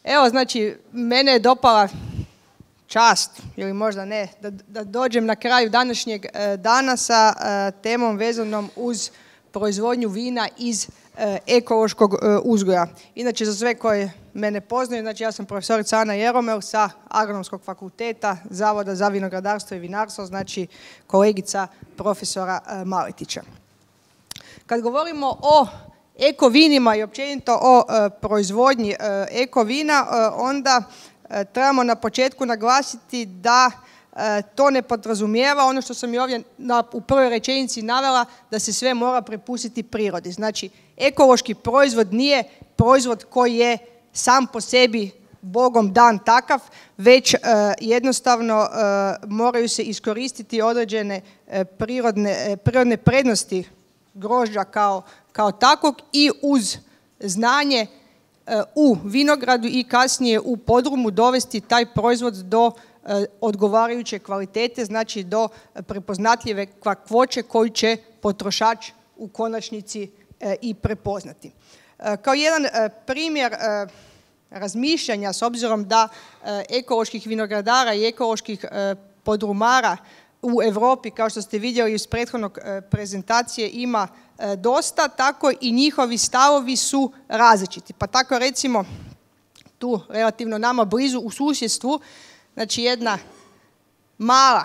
Evo, znači, mene je dopala čast, ili možda ne, da dođem na kraju današnjeg dana sa temom vezanom uz proizvodnju vina iz ekološkog uzgoja. Inače, za sve koje mene poznaju, znači ja sam profesorica Ana Jeromel sa Agronomskog fakulteta Zavoda za vinogradarstvo i vinarstvo, znači kolegica profesora Maletića. Kad govorimo o eko vinima i općenito o proizvodnji eko vina, onda trebamo na početku naglasiti da to ne podrazumijeva ono što sam i ovdje u prvoj rečenici navela, da se sve mora prepustiti prirodi. Znači, ekološki proizvod nije proizvod koji je sam po sebi Bogom dan takav, već jednostavno moraju se iskoristiti određene prirodne prednosti grožđa kao takvog i uz znanje u vinogradu i kasnije u podrumu dovesti taj proizvod do odgovarajuće kvalitete, znači do prepoznatljive kakvoće koju će potrošač u konačnici i prepoznati. Kao jedan primjer razmišljanja, s obzirom da ekoloških vinogradara i ekoloških podrumara u Europi, kao što ste vidjeli iz prethodnog prezentacije, ima dosta, tako i njihovi stavovi su različiti. Pa tako recimo tu relativno nama blizu u susjedstvu, znači jedna mala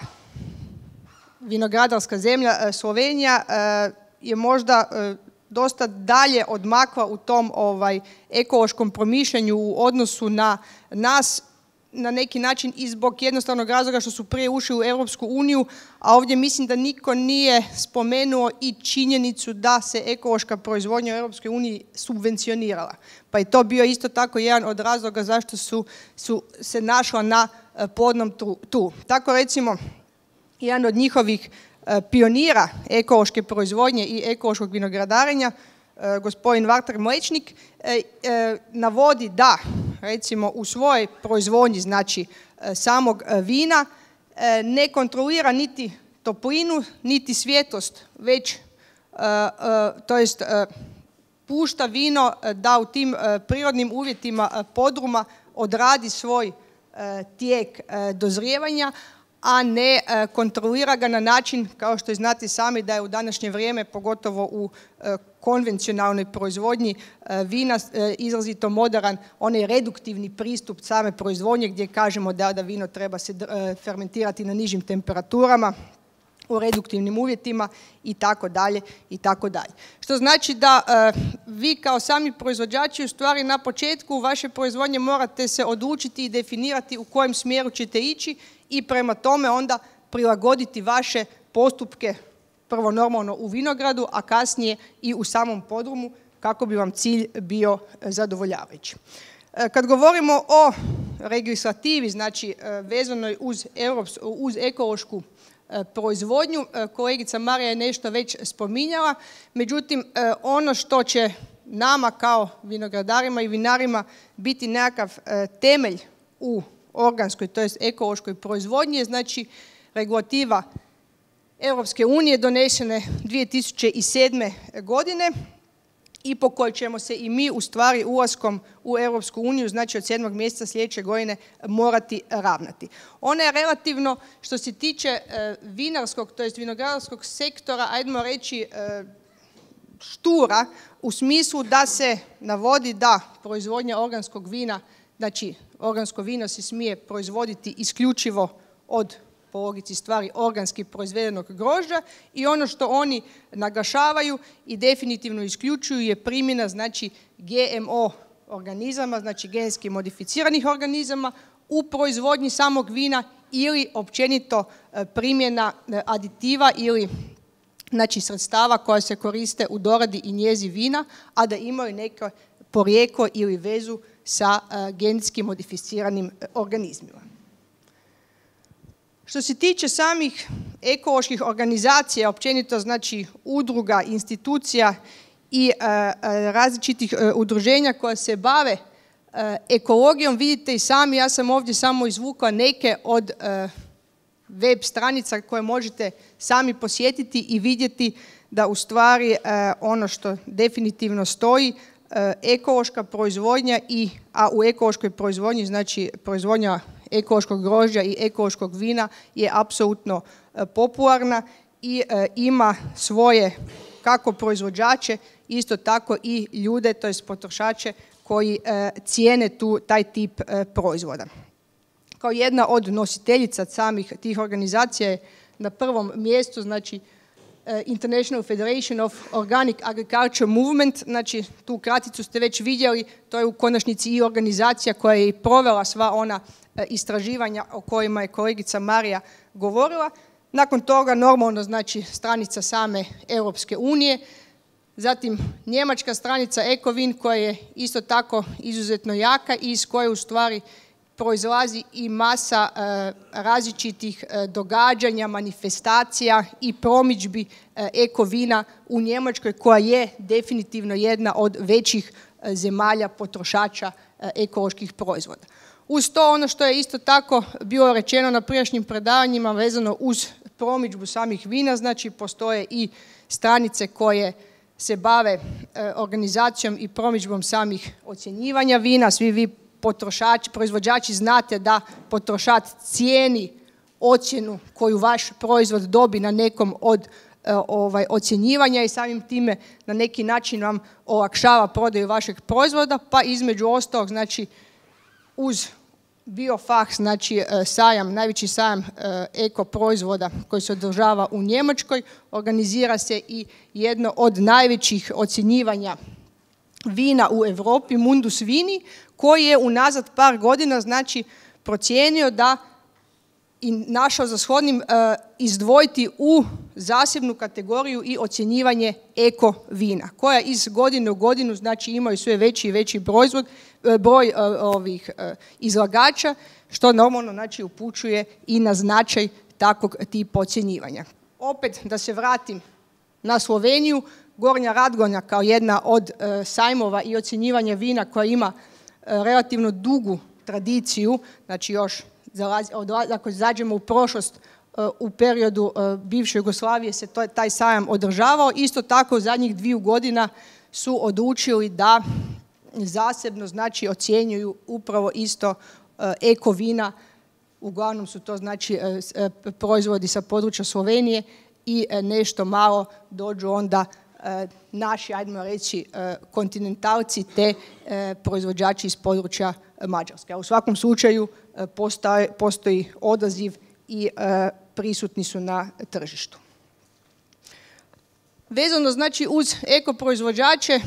vinogradarska zemlja Slovenija je možda dosta dalje odmakla u tom ekološkom promišljanju u odnosu na nas, na neki način i zbog jednostavnog razloga što su prije ušli u Europsku uniju, a ovdje mislim da niko nije spomenuo i činjenicu da se ekološka proizvodnja u Europskoj uniji subvencionirala. Pa je to bio isto tako jedan od razloga zašto su se našla na plodnom tlu. Tako recimo, jedan od njihovih pionira ekološke proizvodnje i ekološkog vinogradarenja, gospodin Valter Mlečnik, navodi da recimo u svojoj proizvodnji, znači samog vina, ne kontrolira niti toplinu, niti svjetlost, već pušta vino da u tim prirodnim uvjetima podruma odradi svoj tijek dozrijevanja, a ne kontrolira ga na način, kao što znate sami, da je u današnje vrijeme, pogotovo u konvencionalnoj proizvodnji vina, izrazito moderan onaj reduktivni pristup same proizvodnje, gdje kažemo da vino treba se fermentirati na nižim temperaturama, u reduktivnim uvjetima i tako dalje i tako dalje. Što znači da vi kao sami proizvođači u stvari na početku vaše proizvodnje morate se odlučiti i definirati u kojem smjeru ćete ići i prema tome onda prilagoditi vaše postupke, prvo normalno u vinogradu, a kasnije i u samom podrumu, kako bi vam cilj bio zadovoljavajući. Kad govorimo o legislativi, znači vezanoj uz ekološku proizvodnju, kolegica Marija je nešto već spominjala, međutim ono što će nama kao vinogradarima i vinarima biti nekakav temelj u organskoj, to jest ekološkoj proizvodnji je znači regulativa Europske unije donesene 2007. godine i po kojoj ćemo se i mi u stvari ulaskom u Europsku uniju, znači od 7. mjeseca sljedeće godine, morati ravnati. Ona je relativno, što se tiče vinarskog, to jest vinogradarskog sektora, ajdemo reći štura, u smislu da se navodi da proizvodnja organskog vina, znači organsko vino se smije proizvoditi isključivo od, po logici stvari, organski proizvedenog grožđa, i ono što oni naglašavaju i definitivno isključuju je primjena, znači, GMO organizama, znači genetski modificiranih organizama u proizvodnji samog vina ili općenito primjena aditiva ili znači sredstava koja se koriste u doradi i njezi vina, a da imaju neko porijeklo ili vezu sa genetski modificiranim organizmima. Što se tiče samih ekoloških organizacija, općenito znači udruga, institucija i različitih udruženja koja se bave ekologijom, vidite i sami, ja sam ovdje samo izvukla neke od web stranica koje možete sami posjetiti i vidjeti da u stvari ono što definitivno stoji ekološka proizvodnja, a u ekološkoj proizvodnji, znači proizvodnja ekološkog grožđa i ekološkog vina je apsolutno popularna i ima svoje kako proizvođače, isto tako i ljude, to jest potrošače koji cijene taj tip proizvoda. Kao jedna od nositeljica samih tih organizacija je na prvom mjestu, znači International Federation of Organic Agriculture Movement, znači tu kraticu ste već vidjeli, to je u konačnici i organizacija koja je i provela sva ona istraživanja o kojima je kolegica Marija govorila. Nakon toga normalno znači stranica same Europske unije, zatim njemačka stranica Ecovin koja je isto tako izuzetno jaka i iz koje u stvari proizlazi i masa različitih događanja, manifestacija i promidžbi ekovina u Njemačkoj koja je definitivno jedna od većih zemalja potrošača ekoloških proizvoda. Uz to ono što je isto tako bilo rečeno na prijašnjim predavanjima vezano uz promidžbu samih vina, znači postoje i stranice koje se bave organizacijom i promidžbom samih ocjenjivanja vina. Svi vi potrošači, proizvođači znate da potrošač cijeni ocjenu koju vaš proizvod dobi na nekom od ocjenjivanja i samim time na neki način vam olakšava prodaju vašeg proizvoda, pa između ostalog znači uz Biofach, znači sajam, najveći sajam eko proizvoda koji se održava u Njemačkoj, organizira se i jedno od najvećih ocjenjivanja vina u Europi, Mundus Vini, koji je unazad par godina znači procijenio da i našao za shodnim izdvojiti u zasebnu kategoriju i ocjenjivanje eko vina, koja iz godine u godinu znači imaju sve veći i veći broj ovih izlagača, što normalno znači upućuje i na značaj takvog tipa ocjenjivanja. Opet da se vratim na Sloveniju, Gornja Radgonja kao jedna od sajmova i ocjenjivanja vina koja ima relativno dugu tradiciju, znači još ako zađemo u prošlost, u periodu bivše Jugoslavije se taj sajam održavao. Isto tako u zadnjih 2 godina su odlučili da zasebno znači ocjenjuju upravo isto eko vina. Uglavnom su to znači proizvodi sa područja Slovenije i nešto malo dođu onda naši, ajdemo reći, kontinentalci te proizvođači iz područja Mađarske. U svakom slučaju postoji odaziv i prisutni su na tržištu. Vezano znači uz eko proizvođače,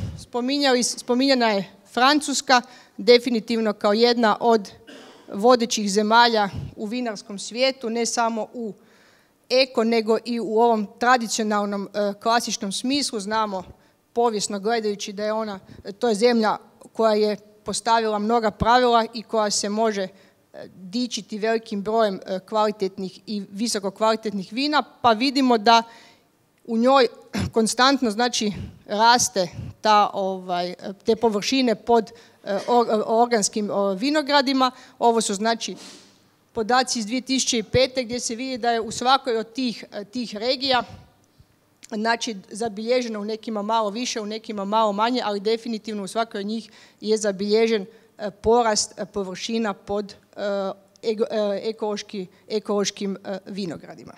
spominjana je Francuska, definitivno kao jedna od vodećih zemalja u vinarskom svijetu, ne samo u eko, nego i u ovom tradicionalnom klasičnom smislu. Znamo povijesno gledajući da je to je zemlja koja je postavila mnoga pravila i koja se može dičiti velikim brojem kvalitetnih i visoko kvalitetnih vina, pa vidimo da u njoj konstantno znači raste te površine pod organskim vinogradima. Ovo su znači podaci iz 2005. gdje se vidi da je u svakoj od tih regija znači zabilježeno u nekima malo više, u nekima malo manje, ali definitivno u svakoj od njih je zabilježen porast površina pod ekološkim vinogradima.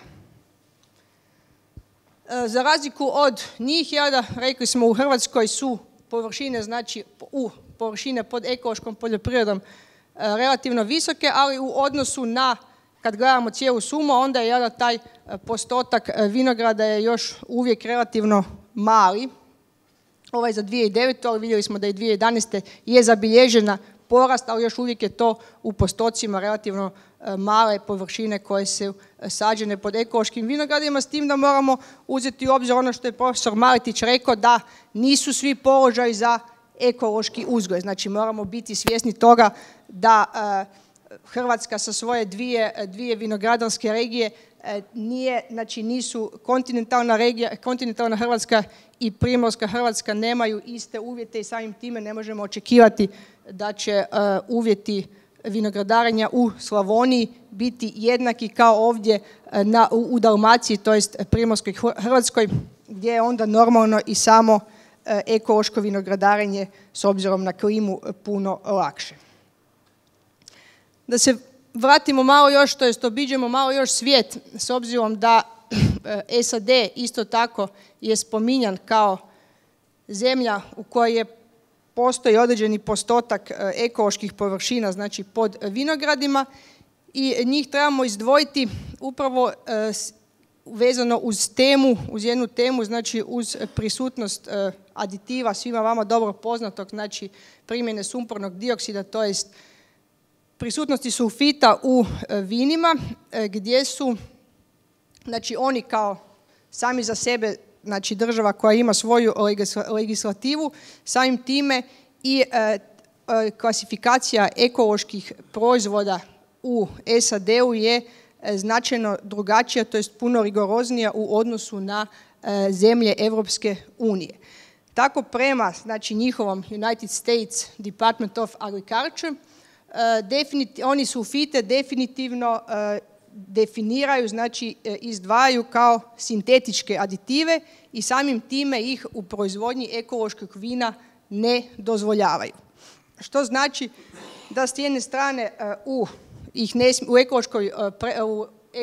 Za razliku od njih, rekli smo u Hrvatskoj su površine, znači površine pod ekološkom poljoprivredom relativno visoke, ali u odnosu na, kad gledamo cijelu sumu, onda je taj postotak vinograda je još uvijek relativno mali. Ovaj za 2009. ali vidjeli smo da i 2011. je zabilježena porast, ali još uvijek je to u postocima relativno male površine koje su sađene pod ekološkim vinogradima, s tim da moramo uzeti u obzir ono što je profesor Maletić rekao, da nisu svi položaji za ekološki uzgoj. Znači moramo biti svjesni toga da Hrvatska sa svoje dvije vinogradarske regije nisu kontinentalna Hrvatska i primorska Hrvatska nemaju iste uvjete i samim time ne možemo očekivati da će uvjeti vinogradarenja u Slavoniji biti jednaki kao ovdje u Dalmaciji, to jest primorskoj Hrvatskoj, gdje je onda normalno i samo ekološko vinogradarenje s obzirom na klimu puno lakše. Da se vratimo malo još, to jest obiđemo malo još svijet, s obzirom da SAD isto tako je spominjan kao zemlja u kojoj postoji određeni postotak ekoloških površina, znači pod vinogradima, i njih trebamo izdvojiti upravo vezano uz jednu temu, znači uz prisutnost aditiva svima vama dobro poznatog, znači primjene sumpornog dioksida, to jest prisutnosti sulfita u vinima, gdje su, znači oni kao sami za sebe, znači država koja ima svoju legislativu, samim time i klasifikacija ekoloških proizvoda u SAD-u je značajno drugačija, to jest puno rigoroznija u odnosu na zemlje Europske unije. Tako prema, znači, njihovom United States Department of Agriculture, oni sulfite definitivno definiraju, znači izdvajaju kao sintetičke aditive i samim time ih u proizvodnji ekološkog vina ne dozvoljavaju. Što znači da s jedne strane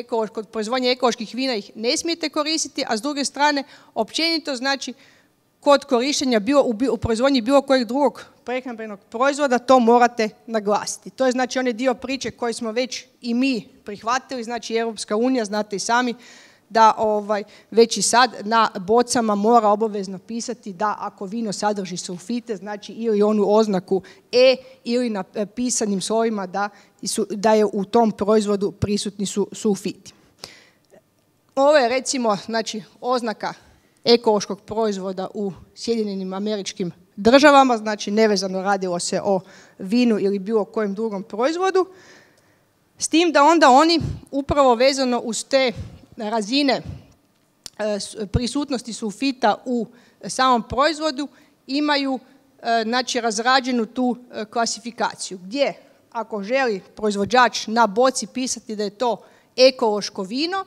kod proizvodnje ekoloških vina ih ne smijete koristiti, a s druge strane općenito znači kod korištenja u proizvodnji bilo kojeg drugog prehrambenog proizvoda to morate naglasiti. To je znači onaj dio priče koji smo već i mi prihvatili, znači Europska unija, znate i sami, da već i sad na bocama mora obavezno pisati da ako vino sadrži sulfite, znači ili onu oznaku E ili na pisanim slovima da je u tom proizvodu prisutni su sulfiti. Ovo je recimo znači oznaka ekološkog proizvoda u Sjedinjenim Američkim Državama, znači nevezano radilo se o vinu ili bilo kojem drugom proizvodu, s tim da onda oni upravo vezano uz te razine prisutnosti sulfita u samom proizvodu imaju znači razrađenu tu klasifikaciju, gdje ako želi proizvođač na boci pisati da je to ekološko vino,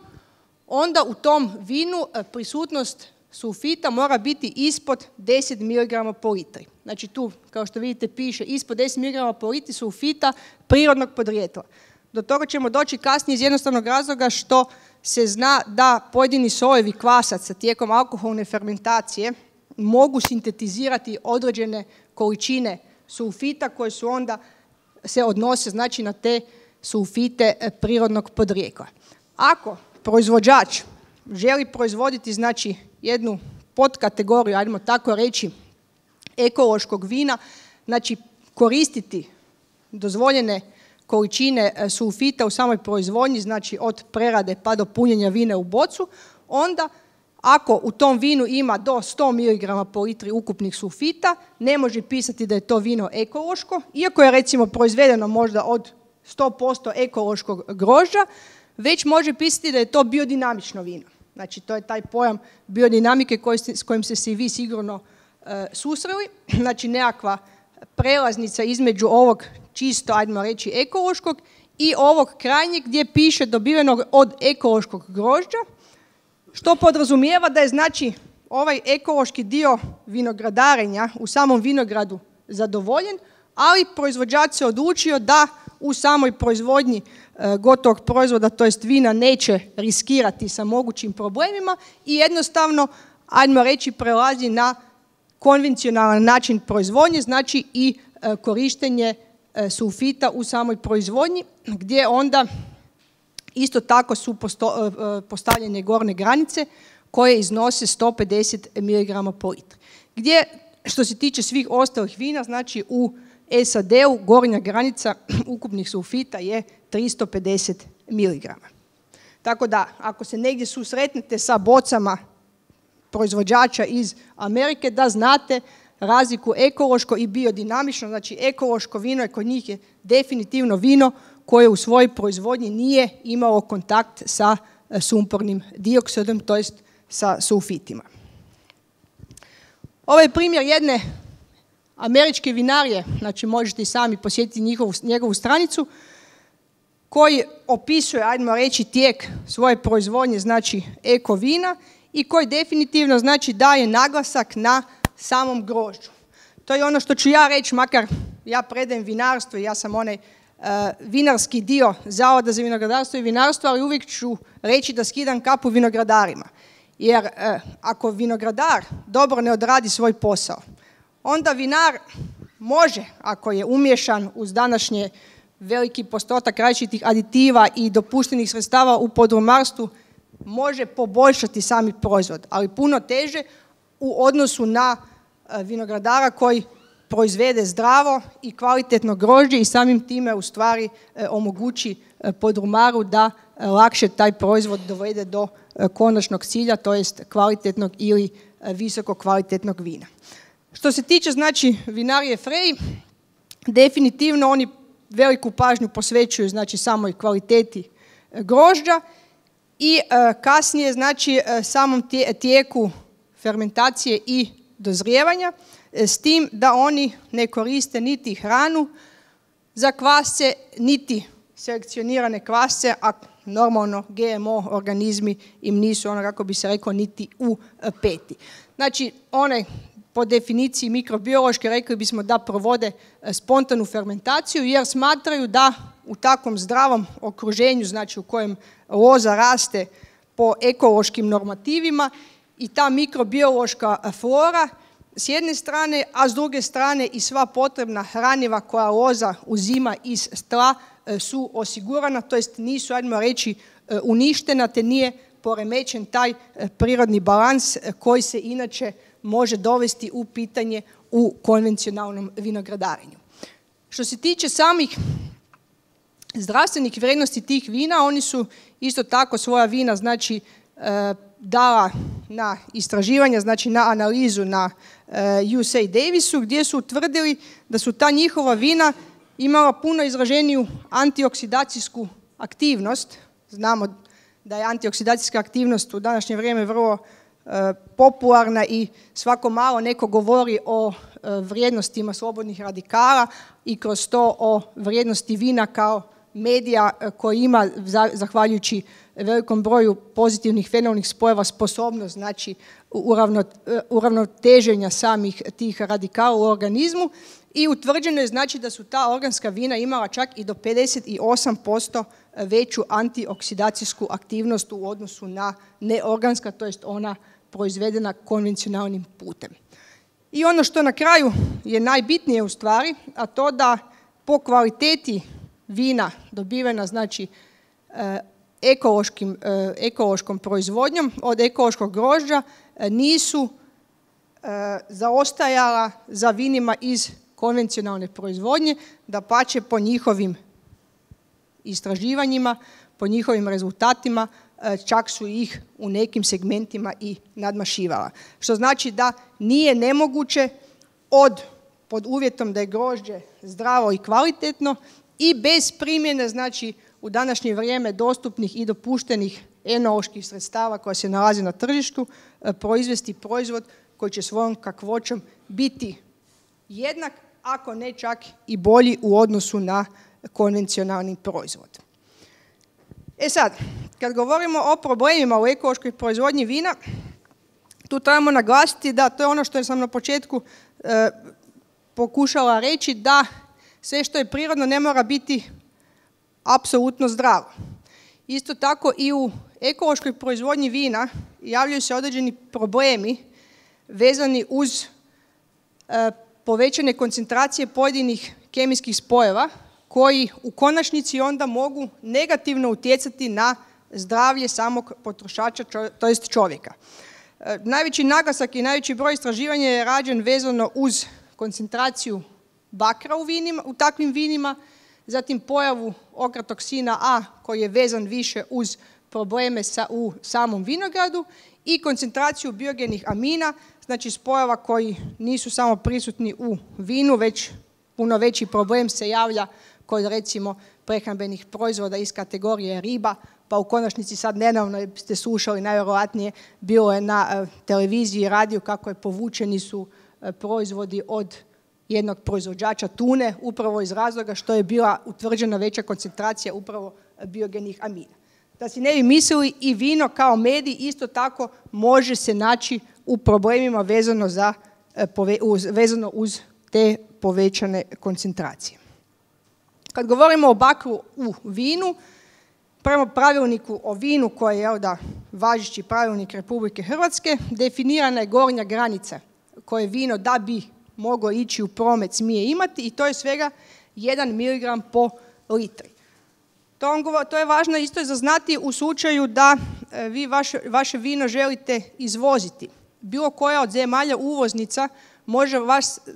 onda u tom vinu prisutnost sulfita mora biti ispod 10 mg po litri. Znači tu, kao što vidite, piše ispod 10 mg po litri sulfita prirodnog podrijetla. Do toga ćemo doći kasnije iz jednostavnog razloga što se zna da pojedini sojevi kvasaca tijekom alkoholne fermentacije mogu sintetizirati određene količine sulfita koje su onda se odnose znači na te sulfite prirodnog podrijetla. Ako proizvođač želi proizvoditi znači jednu podkategoriju, ajmo tako reći, ekološkog vina, znači koristiti dozvoljene količine sulfita u samoj proizvodnji, znači od prerade pa do punjenja vina u bocu, onda ako u tom vinu ima do 100 mg po litri ukupnih sulfita, ne može pisati da je to vino ekološko, iako je recimo proizvedeno možda od 100% ekološkog grožđa, već može pisati da je to biodinamično vino. Znači to je taj pojam biodinamike s kojim ste se i vi sigurno susreli, znači nekakva prelaznica između ovog čisto, ajmo reći, ekološkog i ovog krajnjeg gdje piše dobivenog od ekološkog grožđa, što podrazumijeva da je znači ovaj ekološki dio vinogradarenja u samom vinogradu zadovoljen, ali proizvođač se odlučio da u samoj proizvodnji gotovog proizvoda, to jest vina, neće riskirati sa mogućim problemima i jednostavno, ajmo reći, prelazi na konvencionalan način proizvodnje, znači i korištenje sulfita u samoj proizvodnji, gdje onda isto tako su postavljene gornje granice koje iznose 150 mg po litri. Gdje, što se tiče svih ostalih vina, znači u SAD-u gornja granica ukupnih sulfita je 350 mg. Tako da, ako se negdje susretnete sa bocama proizvođača iz Amerike, da znate razliku ekološko i biodinamično, znači ekološko vino je kod njih je definitivno vino koje u svojoj proizvodnji nije imalo kontakt sa sumpornim dioksidom, to jest sa sulfitima. Ovo je primjer jedne američke vinarije, znači možete i sami posjetiti njegovu stranicu, koji opisuje, ajmo reći, tijek svoje proizvodnje, znači eko vina, i koji definitivno znači daje naglasak na samom grožđu. To je ono što ću ja reći, makar ja predajem vinarstvo i ja sam onaj vinarski dio Zavoda za vinogradarstvo i vinarstvo, ali uvijek ću reći da skidam kapu vinogradarima. Jer ako vinogradar dobro ne odradi svoj posao, onda vinar može, ako je umješan uz današnje veliki postotak različitih aditiva i dopuštenih sredstava u podrumarstvu, može poboljšati sami proizvod, ali puno teže u odnosu na vinogradara koji proizvede zdravo i kvalitetno grožđe i samim time u stvari omogući podrumaru da lakše taj proizvod dovede do konačnog cilja, to jest kvalitetnog ili visoko kvalitetnog vina. Što se tiče znači vinarije Frey, definitivno oni veliku pažnju posvećuju znači samoj kvaliteti grožđa i kasnije znači samom tijeku fermentacije i dozrijevanja, s tim da oni ne koriste niti hranu za kvasce, niti selekcionirane kvasce, a normalno GMO organizmi im nisu, ono kako bi se reklo, niti u peti. Znači, one po definiciji mikrobiološke rekli bismo da provode spontanu fermentaciju jer smatraju da u takvom zdravom okruženju, znači u kojem loza raste po ekološkim normativima i ta mikrobiološka flora s jedne strane, a s druge strane i sva potrebna hraniva koja loza uzima iz tla su osigurana, to jest nisu, ajmo reći, uništena, te nije poremećen taj prirodni balans koji se inače može dovesti u pitanje u konvencionalnom vinogradarenju. Što se tiče samih zdravstvenih vrijednosti tih vina, oni su isto tako svoja vina znači dala na istraživanja, znači na analizu na USA Davisu, gdje su utvrdili da su ta njihova vina imala puno izraženiju antioksidacijsku aktivnost. Znamo da je antioksidacijska aktivnost u današnje vrijeme vrlo popularna i svako malo neko govori o vrijednostima slobodnih radikala i kroz to o vrijednosti vina kao medija koji ima, zahvaljujući velikom broju pozitivnih fenolnih spojeva, sposobnost znači uravnoteženja samih tih radikala u organizmu i utvrđeno je znači da su ta organska vina imala čak i do 58% veću antioksidacijsku aktivnost u odnosu na neorganska, to jest ona proizvedena konvencionalnim putem. I ono što na kraju je najbitnije u stvari, a to da po kvaliteti vina dobivena znači ekološkom proizvodnjom od ekološkog grožđa nisu zaostajala za vinima iz konvencionalne proizvodnje, dapače po njihovim istraživanjima, po njihovim rezultatima čak su ih u nekim segmentima i nadmašivala. Što znači da nije nemoguće pod uvjetom da je grožđe zdravo i kvalitetno i bez primjene znači u današnje vrijeme dostupnih i dopuštenih enoloških sredstava koja se nalaze na tržištu proizvesti proizvod koji će svojom kakvoćom biti jednak, ako ne čak i bolji u odnosu na konvencionalni proizvod. E sad, kad govorimo o problemima u ekološkoj proizvodnji vina, tu trebamo naglasiti da to je ono što sam na početku pokušala reći, da sve što je prirodno ne mora biti apsolutno zdravo. Isto tako i u ekološkoj proizvodnji vina javljaju se određeni problemi vezani uz povećane koncentracije pojedinih kemijskih spojeva koji u konačnici onda mogu negativno utjecati na zdravlje samog potrošača, to jest čovjeka. Najveći naglasak i najveći broj istraživanja je rađen vezano uz koncentraciju bakra u takvim vinima, zatim pojavu okratoksina A koji je vezan više uz probleme u samom vinogradu i koncentraciju biogenih amina, znači spojeva koji nisu samo prisutni u vinu, već puno veći problem se javlja kod recimo prehrambenih proizvoda iz kategorije riba, pa u konačnici sad nedavno ste slušali, najvjerojatnije bilo je na televiziji i radiju kako je povučeni su proizvodi od jednog proizvođača tune, upravo iz razloga što je bila utvrđena veća koncentracija upravo biogenih amina. Da si ne bi mislili, i vino kao medij isto tako može se naći u problemima vezano za vezano uz te povećane koncentracije. Kad govorimo o bakru u vinu, prema pravilniku o vinu koji je važeći pravilnik Republike Hrvatske, definirana je gornja granica koje vino da bi moglo ići u promet smije imati i to je svega 1 mg po litri. To je važno isto za znati u slučaju da vi vaše vino želite izvoziti. Bilo koja od zemalja uvoznica može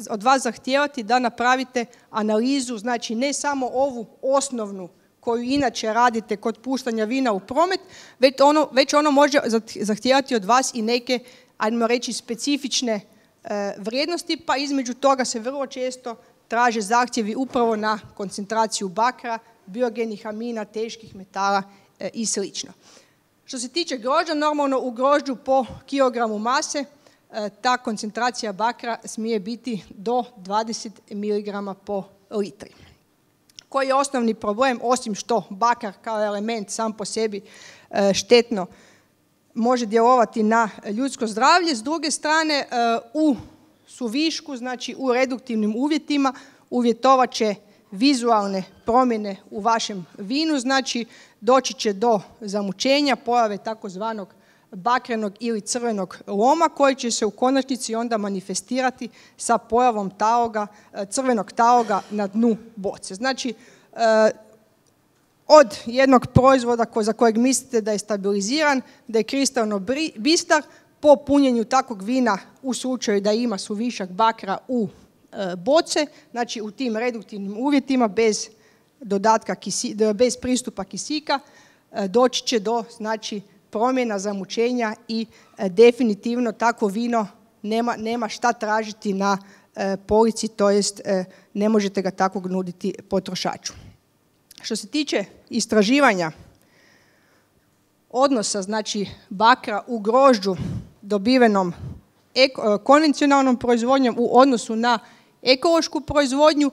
od vas zahtijevati da napravite analizu, znači ne samo ovu osnovnu koju inače radite kod puštanja vina u promet, već ono može zahtijevati od vas i neke, ajmo reći, specifične vrijednosti, pa između toga se vrlo često traže zahtjevi upravo na koncentraciju bakra, biogenih amina, teških metala i sl. Što se tiče grožđa, normalno u grožđu po kilogramu mase ta koncentracija bakra smije biti do 20 mg po litri. Koji je osnovni problem, osim što bakar kao element sam po sebi štetno može djelovati na ljudsko zdravlje, s druge strane u suvišku, znači u reduktivnim uvjetima, uvjetovat će vizualne promjene u vašem vinu, znači doći će do zamućenja, pojave takozvanog bakrenog ili crvenog loma koji će se u konačnici onda manifestirati sa pojavom crvenog taloga na dnu boce. Znači, od jednog proizvoda za kojeg mislite da je stabiliziran, da je kristalno bistar, po punjenju takvog vina u slučaju da ima suvišak bakra u boce, znači u tim reduktivnim uvjetima bez pristupa kisika, doći će do promjena, zamućenja i definitivno takvo vino nema šta tražiti na polici, to jest ne možete ga takvog nuditi potrošaču. Što se tiče istraživanja odnosa, znači bakra u grožđu dobivenom konvencionalnom proizvodnjom u odnosu na ekološku proizvodnju,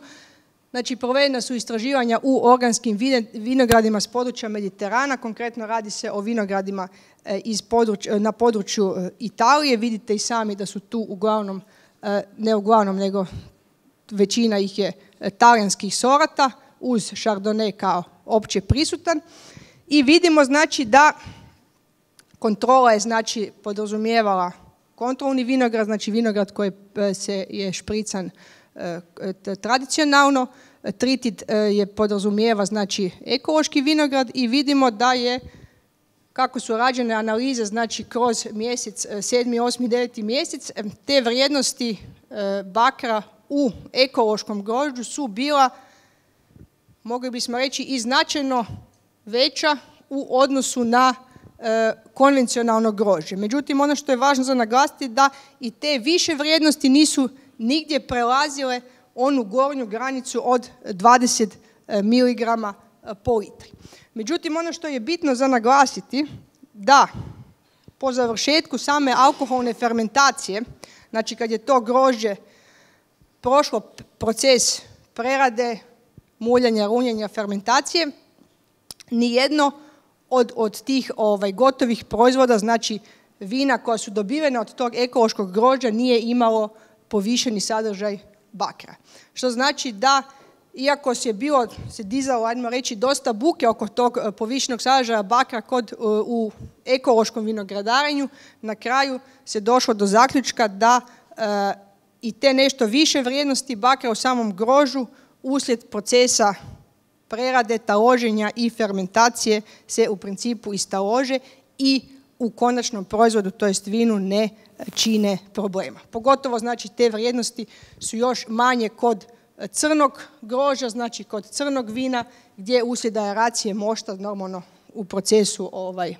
znači provedena su istraživanja u organskim vinogradima s područja Mediterana, konkretno radi se o vinogradima na području Italije. Vidite i sami da su tu uglavnom, ne uglavnom, nego većina ih je talijanskih sorata uz Chardonnay kao opće prisutan. I vidimo znači da kontrola je podrazumijevala kontrolni vinograd, znači vinograd koji je šprican tradicionalno, tritit je podrazumijeva znači ekološki vinograd i vidimo da je, kako su rađene analize, znači kroz mjesec, 7., 8., 9. mjesec, te vrijednosti bakra u ekološkom grožđu su bila, mogli bismo reći, i značajno veća u odnosu na konvencionalno grožđe. Međutim, ono što je važno za naglasiti da i te više vrijednosti nisu nigdje prelazile onu gornju granicu od 20 mg po litri. Međutim, ono što je bitno za naglasiti da po završetku same alkoholne fermentacije, znači kad je to grožđe prošlo proces prerade, muljanja, runjenja, fermentacije, nijedno od tih gotovih proizvoda, znači vina koja su dobivena od tog ekološkog grožđa, nije imalo povišeni sadržaj bakra. Što znači da, iako se dizalo, ajmo reći, dosta buke oko tog povišenog sadržaja bakra u ekološkom vinogradarenju, na kraju se došlo do zaključka da i te nešto više vrijednosti bakra u samom grožđu uslijed procesa prerade, taloženja i fermentacije se u principu istalože i u konačnom proizvodu, to jest vinu, ne čine problema. Pogotovo znači te vrijednosti su još manje kod crnog grožđa, znači kod crnog vina, gdje uslijed aeracije mošta normalno u procesu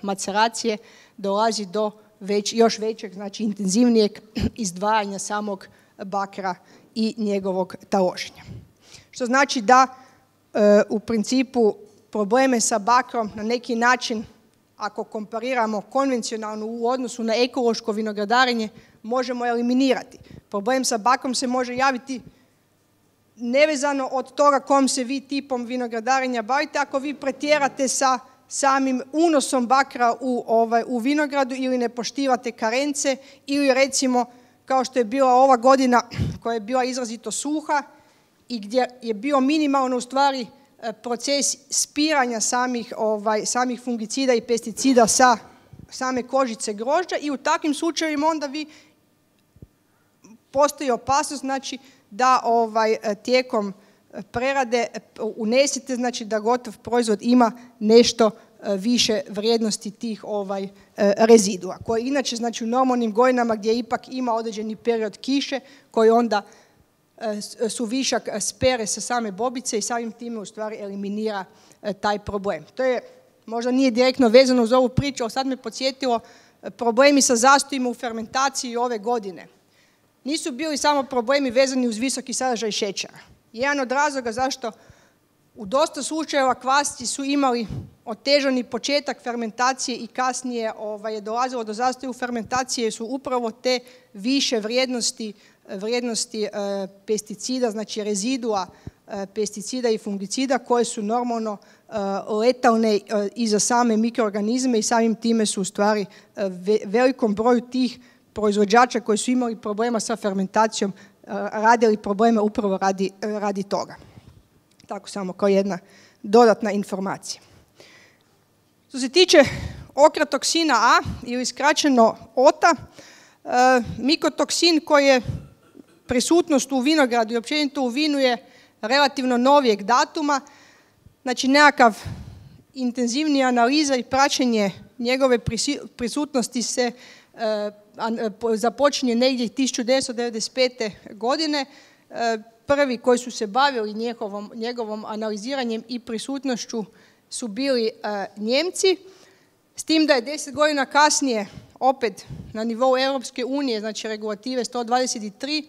maceracije dolazi do još većeg, znači intenzivnijeg izdvajanja samog bakra i njegovog taloženja. Što znači da u principu probleme sa bakrom na neki način, ako kompariramo konvencionalno u odnosu na ekološko vinogradarenje, možemo eliminirati. Problem sa bakrom se može javiti nevezano od toga kom se vi tipom vinogradarenja bavite. Ako vi pretjerate sa samim unosom bakra u vinogradu ili ne poštivate karence ili recimo kao što je bila ova godina koja je bila izrazito suha i gdje je bio minimalno u stvari proces spiranja samih fungicida i pesticida sa same kožice grožđa i u takvim slučajevima onda postoji opasnost znači, da tijekom prerade unesete znači, da gotov proizvod ima nešto više vrijednosti tih rezidua koji inače znači, u normalnim godinama gdje ipak ima određeni period kiše koji onda su višak spere sa same bobice i samim time u stvari eliminira taj problem. To je možda nije direktno vezano uz ovu priču, ali sad me podsjetilo problemi sa zastojima u fermentaciji ove godine. Nisu bili samo problemi vezani uz visoki sadržaj šećera. Jedan od razloga zašto u dosta slučajeva kvasci su imali otežani početak fermentacije i kasnije je dolazilo do zastoja u fermentaciji su upravo te više vrijednosti pesticida, znači rezidua pesticida i fungicida koje su normalno letalne i za same mikroorganizme i samim time su u stvari velikom broju tih proizvođača koji su imali problema sa fermentacijom radili probleme upravo radi toga. Tako samo kao jedna dodatna informacija. Što se tiče okratoksina A ili skraćeno OTA, mikotoksin koji je prisutnost u vinogradu i općenito u vinu je relativno novijeg datuma, znači nekakav intenzivnija analiza i praćenje njegove prisutnosti se započinje negdje 1995. godine. Prvi koji su se bavili njegovom analiziranjem i prisutnošću su bili Njemci, s tim da je 10 godina kasnije opet na nivou Europske unije, znači regulative 123,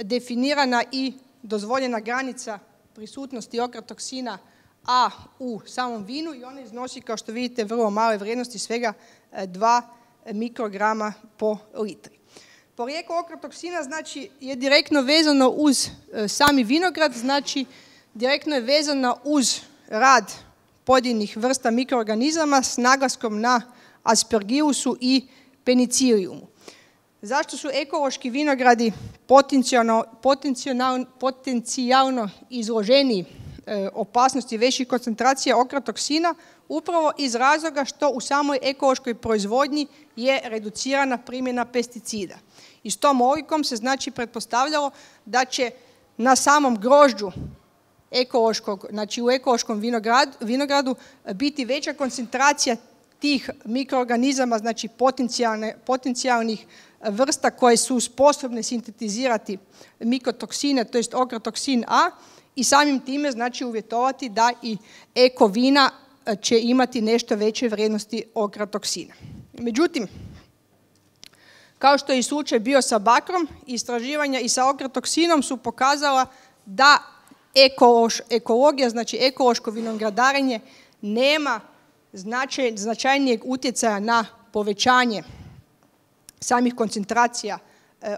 definirana i dozvoljena granica prisutnosti okratoksina A u samom vinu i ona iznosi, kao što vidite, vrlo male vrijednosti, svega 2 mikrograma po litri. Porijeklo okratoksina znači, je direktno vezano uz sami vinograd, znači direktno je vezano uz rad pojedinih vrsta mikroorganizama s naglaskom na aspergilusu i penicilliumu. Zašto su ekološki vinogradi potencijalno izloženi opasnosti većih koncentracija okratoksina? Upravo iz razloga što u samoj ekološkoj proizvodnji je reducirana primjena pesticida. I s tom logikom se znači pretpostavljalo da će na samom grožđu znači u ekološkom vinogradu biti veća koncentracija tih mikroorganizama, znači potencijalnih vrsta koje su sposobne sintetizirati mikotoksine, to jest okratoksin A i samim time znači uvjetovati da i eko vina će imati nešto veće vrijednosti okratoksina. Međutim, kao što je i slučaj bio sa bakrom, istraživanja i sa okratoksinom su pokazala da ekologija, znači ekološko vinogradarenje, nema značajnijeg utjecaja na povećanje samih koncentracija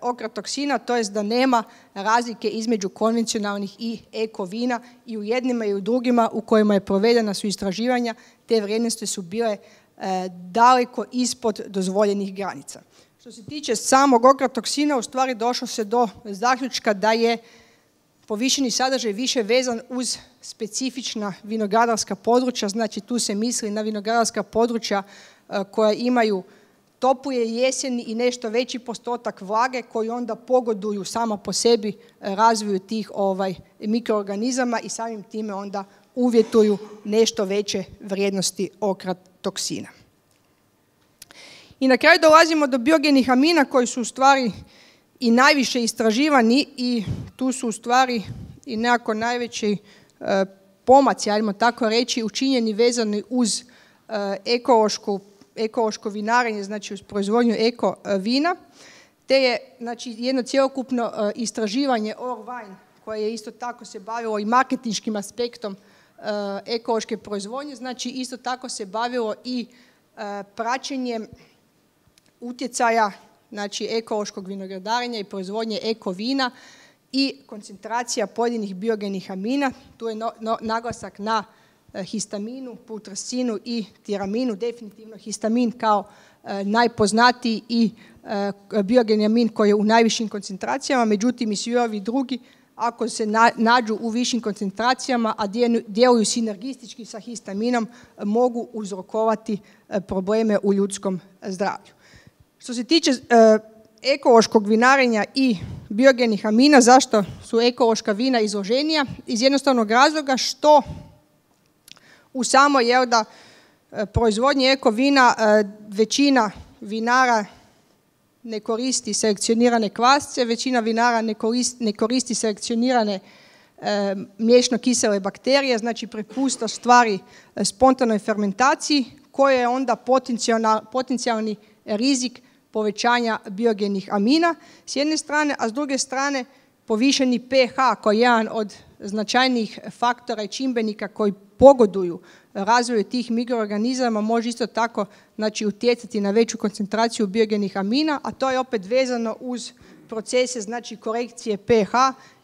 okratoksina, to jest da nema razlike između konvencionalnih i eko vina i u jednima i u drugima u kojima je provedena su istraživanja, te vrijednosti su bile daleko ispod dozvoljenih granica. Što se tiče samog okratoksina, u stvari došlo se do zaključka da je povišeni sadržaj više vezan uz specifična vinogradarska područja, znači tu se misli na vinogradarska područja koja imaju toplije jeseni i nešto veći postotak vlage koji onda pogoduju samo po sebi razvoju tih mikroorganizama i samim time onda uvjetuju nešto veće vrijednosti okratoksina. I na kraju dolazimo do biogenih amina koji su u stvari i najviše istraživani i tu su u stvari i nekako najveći pomaci, ajmo tako reći, učinjeni vezani uz ekološko vinarenje, znači uz proizvodnju eko vina, te je znači, jedno cjelokupno istraživanje Orvine koje je isto tako se bavilo i marketinškim aspektom ekološke proizvodnje, znači isto tako se bavilo i praćenjem utjecaja znači ekološkog vinogradarenja i proizvodnje eko vina i koncentracija pojedinih biogenih amina. Tu je naglasak na histaminu, putrescinu i tiraminu, definitivno histamin kao najpoznatiji i biogeni amin koji je u najvišim koncentracijama, međutim i svi ovi drugi ako se nađu u višim koncentracijama, a djeluju sinergistički sa histaminom, mogu uzrokovati probleme u ljudskom zdravlju. Što se tiče ekološkog vinarenja i biogenih amina, zašto su ekološka vina izloženija? Iz jednostavnog razloga što u samoj proizvodnji eko vina većina vinara ne koristi selekcionirane kvasce, većina vinara ne koristi selekcionirane mliječno-kisele bakterije, znači prepušta stvari spontanoj fermentaciji koja je onda potencijalni rizik povećanja biogenih amina s jedne strane, a s druge strane povišeni pH koji je jedan od značajnijih faktora i čimbenika koji pogoduju razvoju tih mikroorganizama može isto tako utjecati na veću koncentraciju biogenih amina, a to je opet vezano uz procese korekcije pH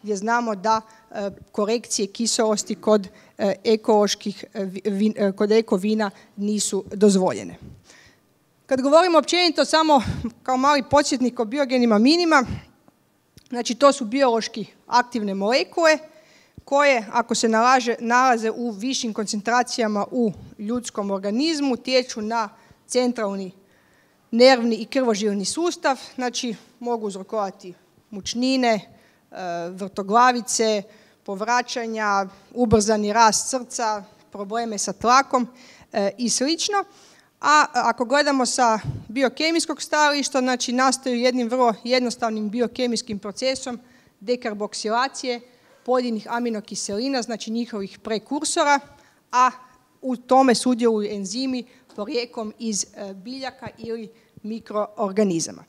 gdje znamo da korekcije kiselosti kod eko vina nisu dozvoljene. Kad govorimo općenito samo kao mali podsjetnik o biogenim aminima, znači to su biološki aktivne molekule koje ako se nalaze u višim koncentracijama u ljudskom organizmu utječu na centralni nervni i krvožilni sustav, znači mogu uzrokovati mučnine, vrtoglavice, povraćanja, ubrzani rast srca, probleme sa tlakom i slično. A ako gledamo sa biokemijskog stajališta, znači nastaju jednim vrlo jednostavnim biokemijskim procesom dekarboksilacije pojedinih aminokiselina, znači njihovih prekursora, a u tome sudjeluju enzimi porijeklom iz biljaka ili mikroorganizama.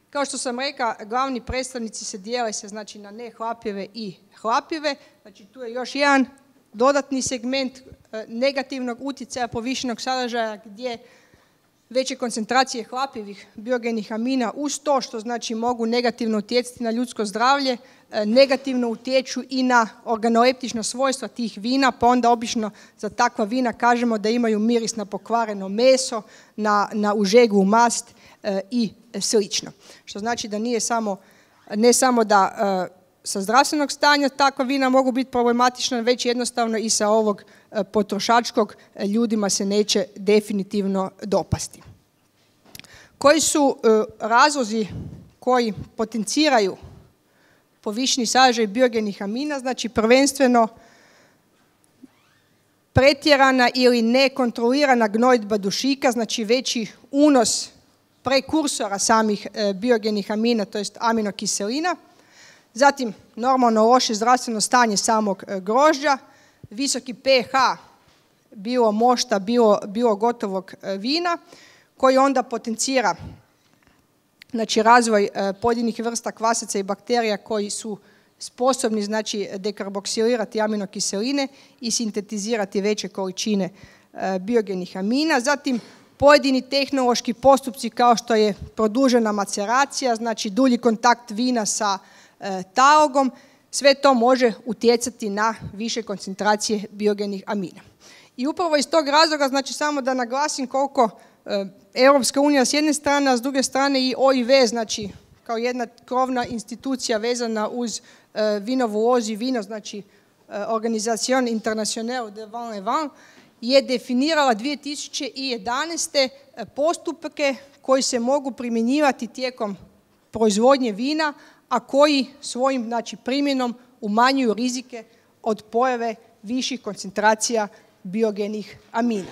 Kao što sam rekla, glavni predstavnici se dijele znači na nehlapive i hlapive, znači tu je još jedan dodatni segment negativnog utjecaja povišenog sadržaja gdje veće koncentracije hlapivih biogenih amina uz to što znači mogu negativno utjecati na ljudsko zdravlje, negativno utječu i na organoleptična svojstva tih vina, pa onda obično za takva vina kažemo da imaju miris na pokvareno meso, na užeglu mast i slično. Što znači da ne samo da sa zdravstvenog stanja takva vina mogu biti problematična, već jednostavno i sa ovog potrošačkog ljudima se neće definitivno dopasti. Koji su razlozi koji potenciraju povišeni sadržaj biogenih amina? Znači prvenstveno pretjerana ili nekontrolirana gnojidba dušika, znači veći unos prekursora samih biogenih amina, to jest aminokiselina. Zatim normalno loše zdravstveno stanje samog grožđa, visoki pH, bilo mošta, bilo gotovog vina, koji onda potencira znači, razvoj pojedinih vrsta kvasaca i bakterija koji su sposobni znači, dekarboksilirati aminokiseline i sintetizirati veće količine biogenih amina. Zatim pojedini tehnološki postupci kao što je produžena maceracija, znači dulji kontakt vina sa talogom, sve to može utjecati na više koncentracije biogenih amina. I upravo iz tog razloga, znači samo da naglasim koliko Europska unija s jedne strane, a s druge strane i OIV, znači kao jedna krovna institucija vezana uz vinovu lozu i vino, znači Organisation Internationale de Vin et Vin, je definirala 2011. postupke koji se mogu primjenjivati tijekom proizvodnje vina, a koji svojim znači, primjenom umanjuju rizike od pojave viših koncentracija biogenih amina.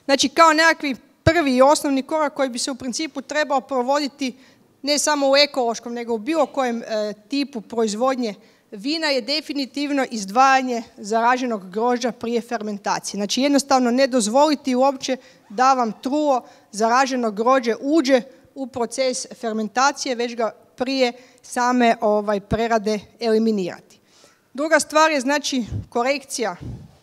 Znači, kao nekakvi prvi i osnovni korak koji bi se u principu trebao provoditi ne samo u ekološkom, nego u bilo kojem tipu proizvodnje vina je definitivno izdvajanje zaraženog grožđa prije fermentacije. Znači, jednostavno ne dozvoliti uopće da vam trulo zaraženo grožđe uđe u proces fermentacije, već ga prije same prerade eliminirati. Druga stvar je znači korekcija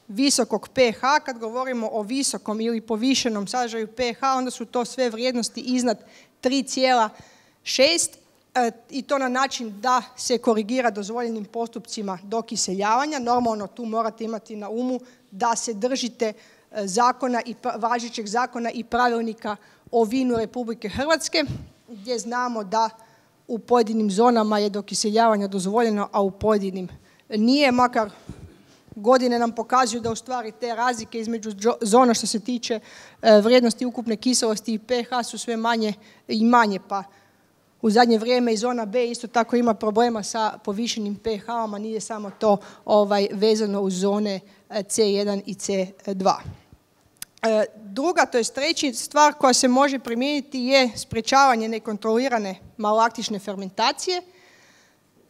visokog pH. Kad govorimo o visokom ili povišenom sadržaju pH, onda su to sve vrijednosti iznad 3,6 i to na način da se korigira dozvoljenim postupcima dokiseljavanja. Normalno tu morate imati na umu da se držite zakona i važećeg zakona i pravilnika o vinu Republike Hrvatske, gdje znamo da u pojedinim zonama je dokiseljavanje dozvoljeno, a u pojedinim nije, makar godine nam pokazuju da u stvari te razlike između zona što se tiče vrijednosti ukupne kiselosti i pH su sve manje i manje, pa u zadnje vrijeme i zona B isto tako ima problema sa povišenim pH-om, a nije samo to vezano uz zone C1 i C2. Druga, to je treća stvar koja se može primijeniti je sprječavanje nekontrolirane malolaktične fermentacije.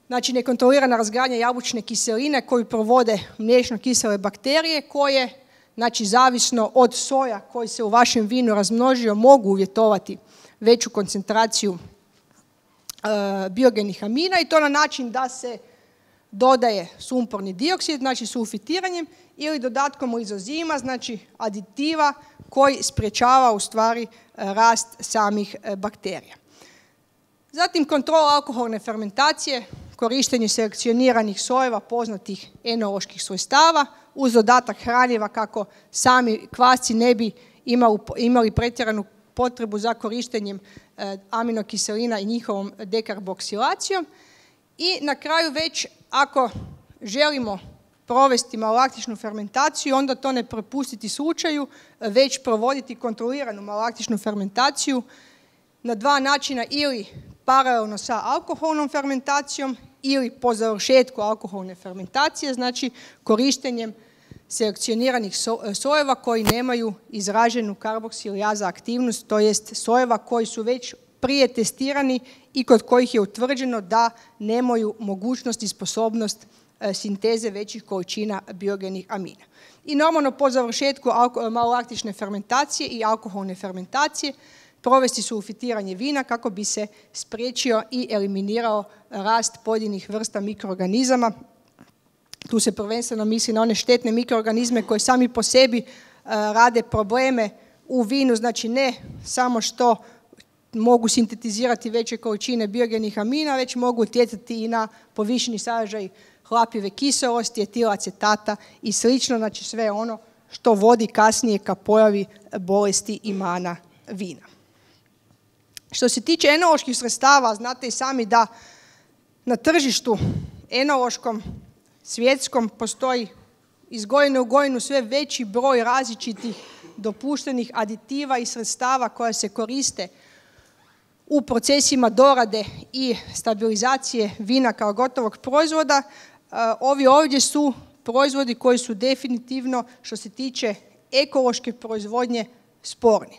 Znači nekontrolirana razgradnja jabučne kiseline koju provode mliječno-kisele bakterije koje, znači zavisno od soja koji se u vašem vinu razmnožio, mogu uvjetovati veću koncentraciju biogenih amina i to na način da se dodaje sumporni dioksid, znači sulfitiranjem ili dodatkom lizozima, znači aditiva koji sprječava u stvari rast samih bakterija. Zatim kontrola alkoholne fermentacije, korištenje selekcioniranih sojeva poznatih enoloških svojstava uz dodatak hranjiva kako sami kvasci ne bi imali pretjeranu potrebu za korištenjem aminokiselina i njihovom dekarboksilacijom. I na kraju već ako želimo provesti malolaktičnu fermentaciju, onda to ne prepustiti slučaju, već provoditi kontroliranu malolaktičnu fermentaciju na dva načina, ili paralelno sa alkoholnom fermentacijom ili po završetku alkoholne fermentacije, znači korištenjem selekcioniranih sojeva koji nemaju izraženu karboksilaza aktivnost, to jest sojeva koji su već prije testirani i kod kojih je utvrđeno da nemaju mogućnost i sposobnost sinteze većih količina biogenih amina. I normalno po završetku malolaktične fermentacije i alkoholne fermentacije provesti sulfitiranje vina kako bi se spriječio i eliminirao rast pojedinih vrsta mikroorganizama. Tu se prvenstveno misli na one štetne mikroorganizme koji sami po sebi rade probleme u vinu, znači ne samo što mogu sintetizirati veće količine biogenih amina, već mogu utjecati i na povišeni sadržaj hlapljive kiselosti, etilacetata i slično, znači sve ono što vodi kasnije ka pojavi bolesti i mana vina. Što se tiče enoloških sredstava, znate i sami da na tržištu enološkom, svjetskom, postoji iz godine u godinu sve veći broj različitih dopuštenih aditiva i sredstava koja se koriste u procesima dorade i stabilizacije vina kao gotovog proizvoda. Ovi ovdje su proizvodi koji su definitivno, što se tiče ekološke proizvodnje, sporni.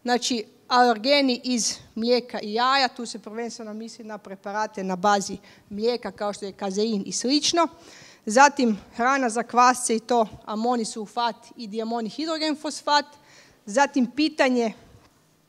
Znači, alergeni iz mlijeka i jaja, tu se prvenstveno misli na preparate na bazi mlijeka kao što je kazein i slično. Zatim hrana za kvasce i to amonisulfat i diamoni hidrogen fosfat. Zatim pitanje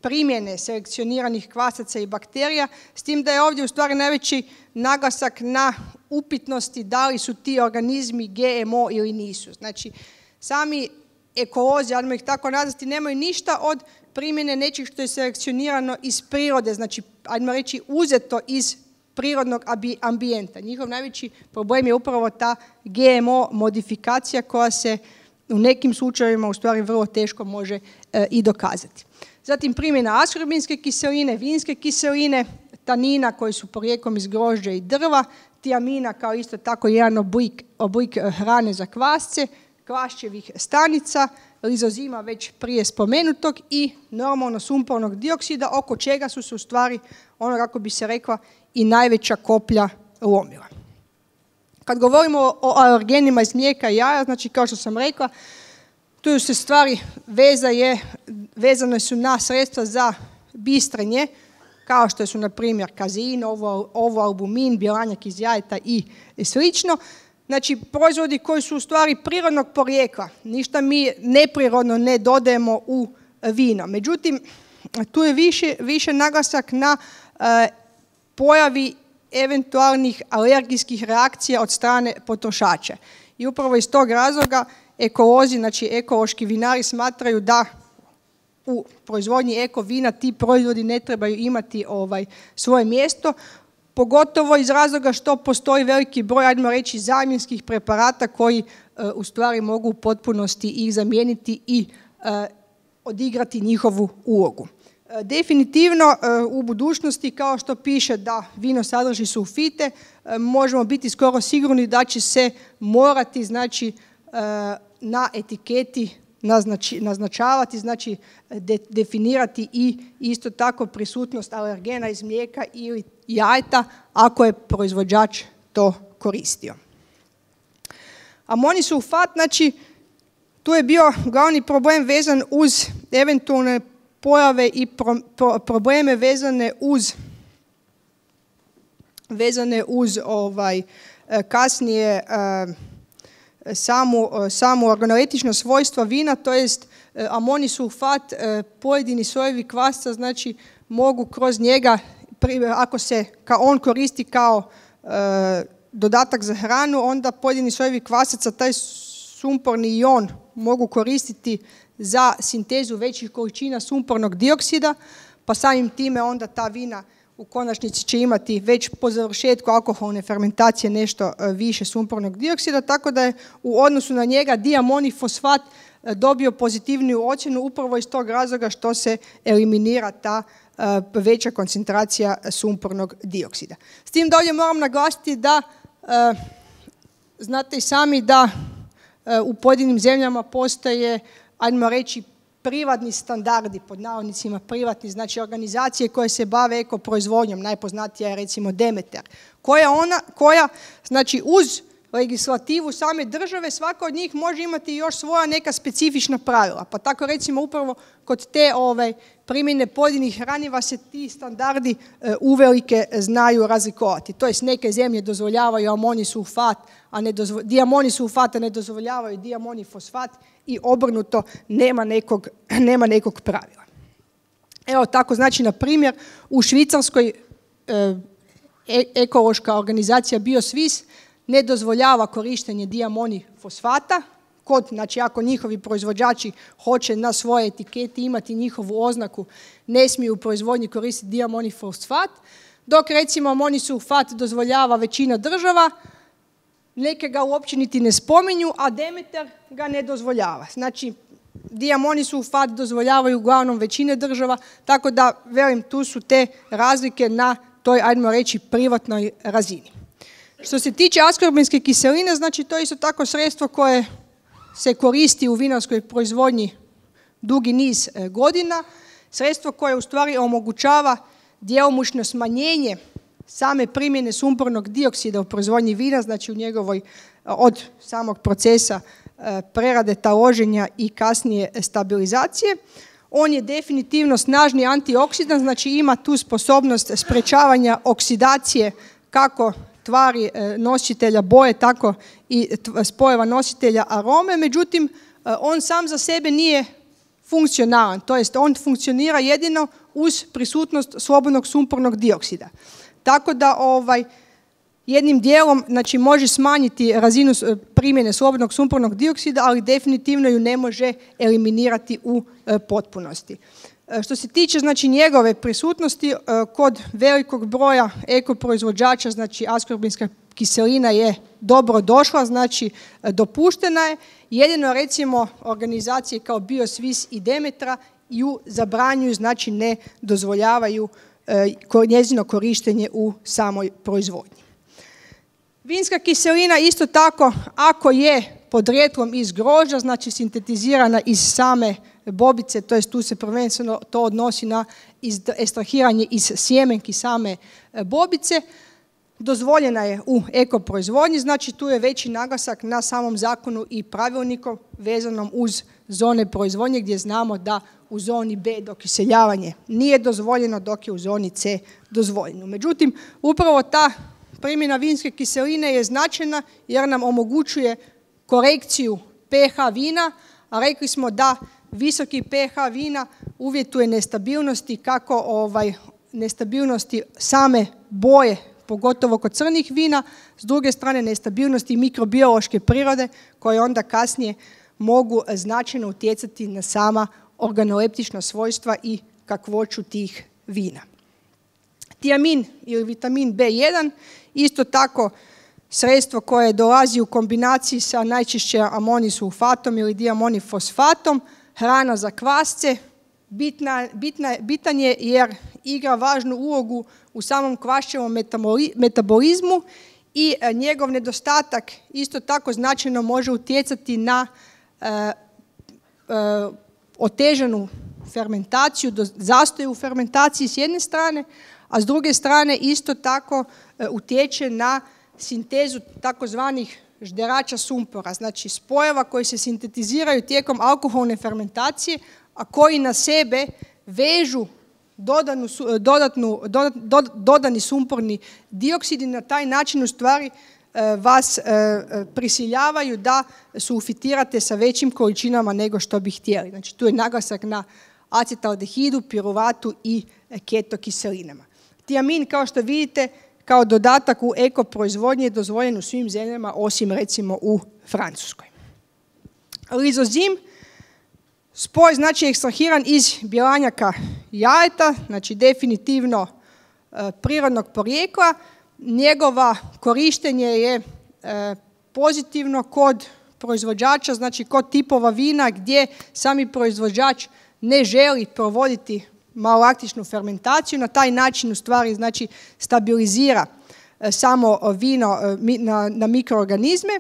primjene selekcioniranih kvasaca i bakterija, s tim da je ovdje u stvari najveći naglasak na upitnosti da li su ti organizmi GMO ili nisu. Znači, sami ekolozi, ajmo ih tako nazvati, nemaju ništa od primjene nečeg što je selekcionirano iz prirode, znači, ajmo reći, uzeto iz prirodnog ambijenta. Njihov najveći problem je upravo ta GMO modifikacija koja se u nekim slučajevima u stvari vrlo teško može i dokazati. Zatim primjena askorbinske kiseline, vinske kiseline, tanina koji su porijeklom iz grožđa i drva, tiamina kao isto tako jedan oblik hrane za kvasce, kvašćevih stanica, lizozima već prije spomenutog i normalno sumpornog dioksida, oko čega su se u stvari, ono kako bi se rekla, i najveća koplja lomila. Kad govorimo o alergenima iz mlijeka i jaja, znači kao što sam rekla, tu se stvari vezane su na sredstva za bistrenje, kao što su na primjer kazein, ovoalbumin, bjelanjak iz jajeta i slično. Znači proizvodi koji su u stvari prirodnog porijekla, ništa mi neprirodno ne dodajemo u vino. Međutim, tu je više naglasak na pojavi eventualnih alergijskih reakcija od strane potrošača. I upravo iz tog razloga ekolozi, znači ekološki vinari smatraju da u proizvodnji eko vina ti proizvodi ne trebaju imati svoje mjesto, pogotovo iz razloga što postoji veliki broj, ajmo reći, zamjenskih preparata koji u stvari mogu u potpunosti ih zamijeniti i odigrati njihovu ulogu. Definitivno u budućnosti, kao što piše da vino sadrži sulfite, možemo biti skoro sigurni da će se morati, znači, na etiketi naznačavati, znači definirati i isto tako prisutnost alergena iz mlijeka ili jajeta ako je proizvođač to koristio. Amoni sulfat, znači tu je bio glavni problem vezan uz eventualne pojave i probleme vezane uz kasnije samo organoleptično svojstva vina, to jest amoni sulfat, pojedini sojevi kvasca, znači mogu kroz njega, ako se on koristi kao dodatak za hranu, onda pojedini sojevi kvasaca taj sumporni ion mogu koristiti za sintezu većih količina sumpornog dioksida, pa samim time onda ta vina u konačnici će imati već po završetku alkoholne fermentacije nešto više sumpornog dioksida, tako da je u odnosu na njega diamoni fosfat dobio pozitivniju ocjenu upravo iz tog razloga što se eliminira ta veća koncentracija sumpornog dioksida. S tim da ovdje moram naglasiti da znate i sami da u pojedinim zemljama postoje, ajmo reći, privatni standardi, pod navodnicima privatni, znači organizacije koje se bave ekoproizvodnjom, najpoznatija je recimo Demeter, koja znači uz legislativu same države, svaka od njih može imati još svoja neka specifična pravila. Pa tako recimo upravo kod te primjene pojedinih hraniva se ti standardi uvelike znaju razlikovati. To jest neke zemlje dozvoljavaju amoni sulfat, diamoni sulfata ne dozvoljavaju diamoni fosfat i obrnuto nema nekog pravila. Evo tako, znači na primjer u Švicarskoj ekološka organizacija BioSwiss ne dozvoljava korištenje diamoni fosfata, znači ako njihovi proizvođači hoće na svoje etiketi imati njihovu oznaku, ne smiju u proizvodnji koristiti diamoni fosfat, dok recimo amoni sulfat dozvoljava većina država, neke ga uopće niti ne spominju, a Demeter ga ne dozvoljava. Znači, diamoni sulfat dozvoljavaju uglavnom većine država, tako da, velim, tu su te razlike na toj, ajmo reći, privatnoj razini. Što se tiče askorbinske kiseline, znači to je isto tako sredstvo koje se koristi u vinarskoj proizvodnji dugi niz godina, sredstvo koje u stvari omogućava djelomično smanjenje same primjene sumpornog dioksida u proizvodnji vina, znači u njegovoj, od samog procesa prerade, taloženja i kasnije stabilizacije. On je definitivno snažni antioksidant, znači ima tu sposobnost sprečavanja oksidacije kako tvari nositelja boje, tako i spojeva nositelja arome, međutim on sam za sebe nije funkcionalan, to jest on funkcionira jedino uz prisutnost slobodnog sumpornog dioksida. Tako da jednim dijelom, znači, može smanjiti razinu primjene slobodnog sumpornog dioksida, ali definitivno ju ne može eliminirati u potpunosti. Što se tiče, znači, njegove prisutnosti kod velikog broja ekoproizvođača, znači askorbinska kiselina je dobro došla, znači dopuštena je. Jedino recimo organizacije kao BioSwiss i Demetra ju zabranjuju, znači ne dozvoljavaju njezino korištenje u samoj proizvodnji. Vinska kiselina isto tako, ako je podrijetlom iz grožđa, znači sintetizirana iz same bobice, to jest tu se prvenstveno to odnosi na ekstrahiranje iz sjemenki same bobice, dozvoljena je u ekoproizvodnji, znači tu je veći naglasak na samom zakonu i pravilniku vezanom uz zone proizvodnje, gdje znamo da u zoni B dokiseljavanje nije dozvoljeno, dok je u zoni C dozvoljeno. Međutim, upravo ta primjena vinske kiseline je značajna jer nam omogućuje korekciju pH vina, a rekli smo da visoki pH vina uvjetuje nestabilnosti, kako nestabilnosti same boje, pogotovo kod crnih vina, s druge strane nestabilnosti mikrobiološke prirode koje onda kasnije mogu značajno utjecati na sama organoleptična svojstva i kakvoću tih vina. Tiamin ili vitamin B1, isto tako sredstvo koje dolazi u kombinaciji sa najčešće amonisulfatom ili diamonifosfatom, hrana za kvasce, bitan je jer igra važnu ulogu u samom kvašćevom metabolizmu i njegov nedostatak isto tako značajno može utjecati na otežanu fermentaciju, zastoj u fermentaciji s jedne strane, a s druge strane isto tako utječe na sintezu takozvanih žderača sumpora, znači spojeva koji se sintetiziraju tijekom alkoholne fermentacije, a koji na sebe vežu dodani sumporni dioksid i na taj način u stvari vas prisiljavaju da sulfitirate sa većim količinama nego što bi htjeli. Znači tu je naglasak na acetaldehidu, piruvatu i ketokiselinama. Tiamin, kao što vidite, kao dodatak u eko proizvodnji je dozvoljen u svim zemljama osim recimo u Francuskoj. Lizozim, spoj znači ekstrahiran iz bjelanjaka jajeta, znači definitivno prirodnog porijekla. Njegova korištenje je pozitivno kod proizvođača, znači kod tipova vina gdje sami proizvođač ne želi provoditi malolaktičnu fermentaciju, na taj način u stvari znači stabilizira samo vino na mikroorganizme.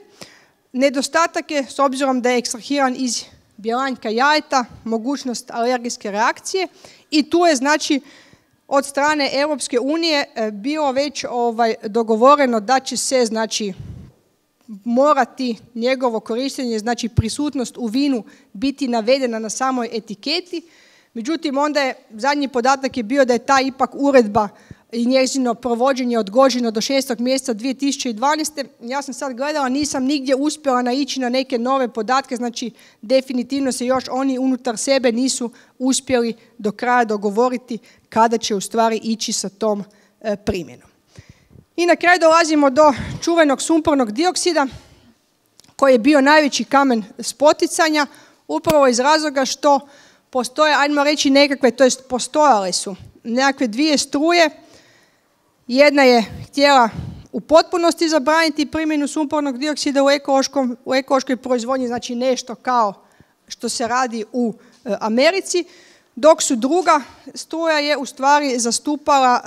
Nedostatak je, s obzirom da je ekstrahiran iz bjelanjka jajeta, mogućnost alergijske reakcije i tu je znači od strane Europske unije bilo već dogovoreno da će se znači morati njegovo korištenje, znači prisutnost u vinu biti navedena na samoj etiketi. Međutim, onda je zadnji podatak je bio da je ta ipak uredba i njezino provođenje odgođeno do 6. mjeseca 2012. Ja sam sad gledala, nisam nigdje uspjela naići na neke nove podatke, znači definitivno se još oni unutar sebe nisu uspjeli do kraja dogovoriti kada će u stvari ići sa tom primjenom. I na kraju dolazimo do čuvenog sumpornog dioksida koji je bio najveći kamen spoticanja upravo iz razloga što postoje, ajmo reći nekakve, to jest postojale su nekakve dvije struje. Jedna je htjela u potpunosti zabraniti primjenu sumpornog dioksida u ekološkoj proizvodnji, znači nešto kao što se radi u Americi, dok su druga struja je u stvari zastupala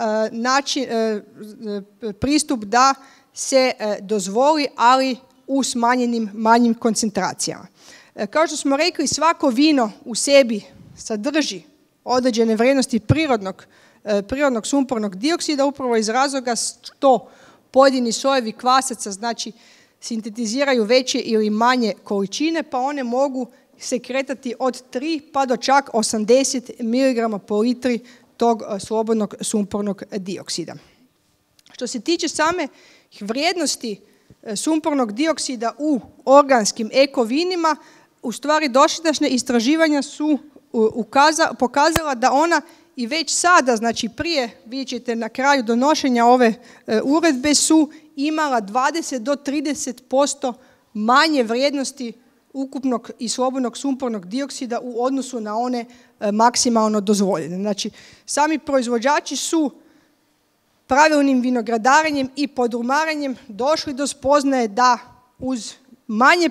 pristup da se dozvoli, ali u smanjenim manjim koncentracijama. Kao što smo rekli, svako vino u sebi sadrži određene vrijednosti prirodnog sumpornog dioksida upravo iz razloga što pojedini sojevi kvasaca znači sintetiziraju veće ili manje količine, pa one mogu se kretati od 3 pa do čak 80 mg po litri tog slobodnog sumpornog dioksida. Što se tiče same vrijednosti sumpornog dioksida u organskim ekovinima, u stvari dosadašnja istraživanja su pokazala da ona i već sada, znači prije, vidjet ćete na kraju donošenja ove uredbe, su imala 20 do 30% manje vrijednosti ukupnog i slobodnog sumpornog dioksida u odnosu na one maksimalno dozvoljene. Znači, sami proizvođači su pravilnim vinogradarenjem i podrumarenjem došli do spoznaje da uz manje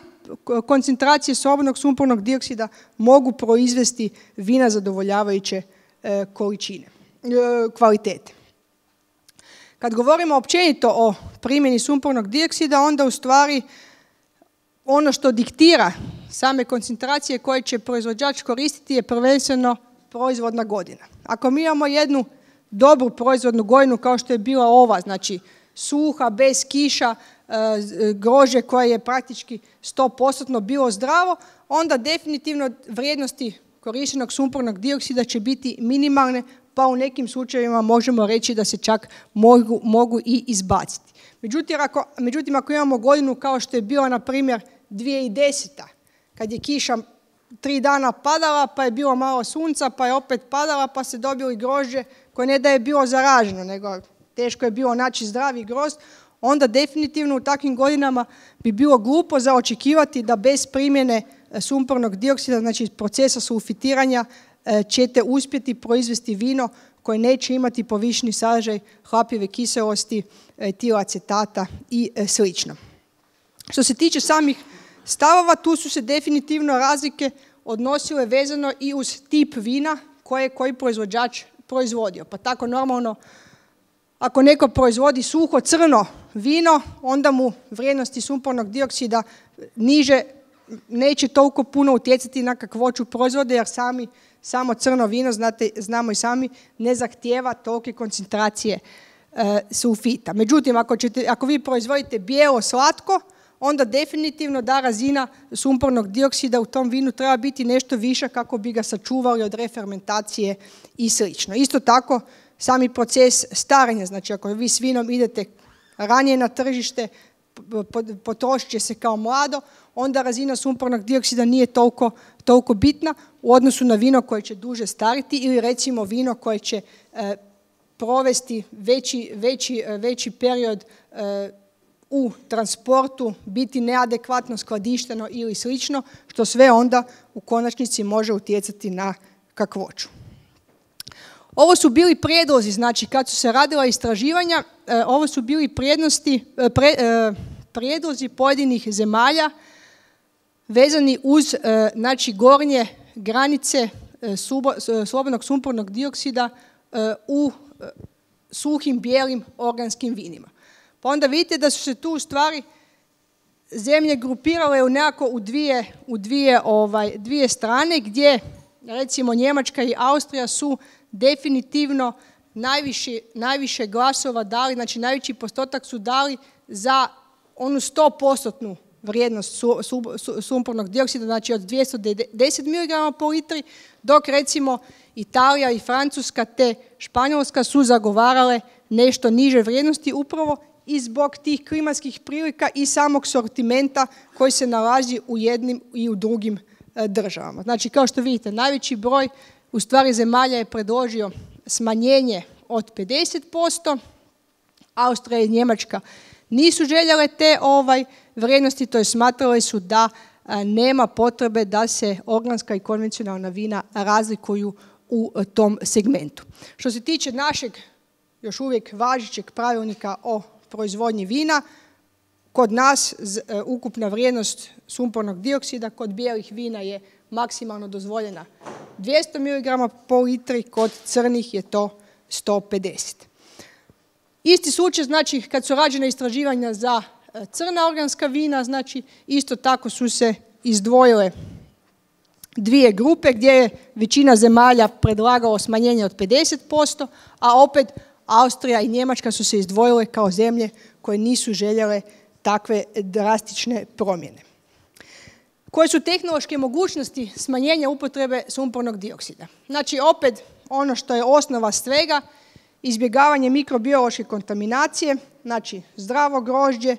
koncentracije slobodnog sumpornog dioksida mogu proizvesti vina zadovoljavajuće kvalitete. Kad govorimo općenito o primjeni sumpornog dioksida, onda u stvari ono što diktira same koncentracije koje će proizvođač koristiti je prvenstveno proizvodna godina. Ako mi imamo jednu dobru proizvodnu godinu kao što je bila ova, znači suha, bez kiša, grožđe koje je praktički 100% bilo zdravo, onda definitivno vrijednosti korištenog sumpornog dioksida će biti minimalne, pa u nekim slučajevima možemo reći da se čak mogu i izbaciti. Međutim, ako imamo godinu kao što je bila, na primjer, 2010. kad je kiša 3 dana padala, pa je bilo malo sunca, pa je opet padala, pa se dobili grožđe koje ne da je bilo zaraženo, nego teško je bilo naći zdravi grozd, onda definitivno u takvim godinama bi bilo glupo za očekivati da bez primjene sumpornog dioksida, znači procesa sulfitiranja, ćete uspjeti proizvesti vino koje neće imati povišeni sadržaj hlapljive kiselosti, etilacetata i slično. Što se tiče samih stavova, tu su se definitivno razlike odnosile vezano i uz tip vina koje je koji proizvođač proizvodio. Pa tako normalno, ako neko proizvodi suho crno vino, onda mu vrijednosti sumpornog dioksida niže neće toliko puno utjecati na kakvoću proizvoda, jer samo crno vino, znamo i sami, ne zahtijeva tolike koncentracije sulfita. Međutim, ako vi proizvodite bijelo slatko, onda definitivno da razina sumpornog dioksida u tom vinu treba biti nešto viša kako bi ga sačuvali od refermentacije i sl. Isto tako, sami proces starenja, znači ako vi s vinom idete ranije na tržište, potrošit će se kao mlado, onda razina sumpornog dioksida nije toliko bitna u odnosu na vino koje će duže stariti ili recimo vino koje će provesti veći period u transportu, biti neadekvatno skladišteno ili slično, što sve onda u konačnici može utjecati na kakvoću. Ovo su bili prijedlozi, znači kad su se radila istraživanja, ovo su bili prijedlozi pojedinih zemalja vezani uz znači, gornje granice slobodnog sumpornog dioksida u suhim bijelim organskim vinima. Pa onda vidite da su se tu u stvari zemlje grupirale u dvije strane, gdje recimo Njemačka i Austrija su definitivno najviše glasova dali, znači najveći postotak su dali za onu 100% vrijednost sumpornog dioksida, znači od 210 mg po litri, dok recimo Italija i Francuska te Španjolska su zagovarale nešto niže vrijednosti upravo i zbog tih klimatskih prilika i samog sortimenta koji se nalazi u jednim i u drugim državama. Znači, kao što vidite, najveći broj u stvari zemalja je predložio smanjenje od 50%, Austrija i Njemačka nisu željele te vrijednosti, to je smatrali su da nema potrebe da se organska i konvencionalna vina razlikuju u tom segmentu. Što se tiče našeg još uvijek važećeg pravilnika o proizvodnji vina, kod nas ukupna vrijednost sumpornog dioksida kod bijelih vina je maksimalno dozvoljena 200 mg po litri, kod crnih je to 150. Isti slučaj, znači, kad su rađena istraživanja za crna organska vina, znači, isto tako su se izdvojile dvije grupe gdje je većina zemalja predlagalo smanjenje od 50%, a opet Austrija i Njemačka su se izdvojile kao zemlje koje nisu željele takve drastične promjene. Koje su tehnološke mogućnosti smanjenja upotrebe sumpornog dioksida? Znači, opet ono što je osnova svega, izbjegavanje mikrobiološke kontaminacije, znači zdravo grožđe,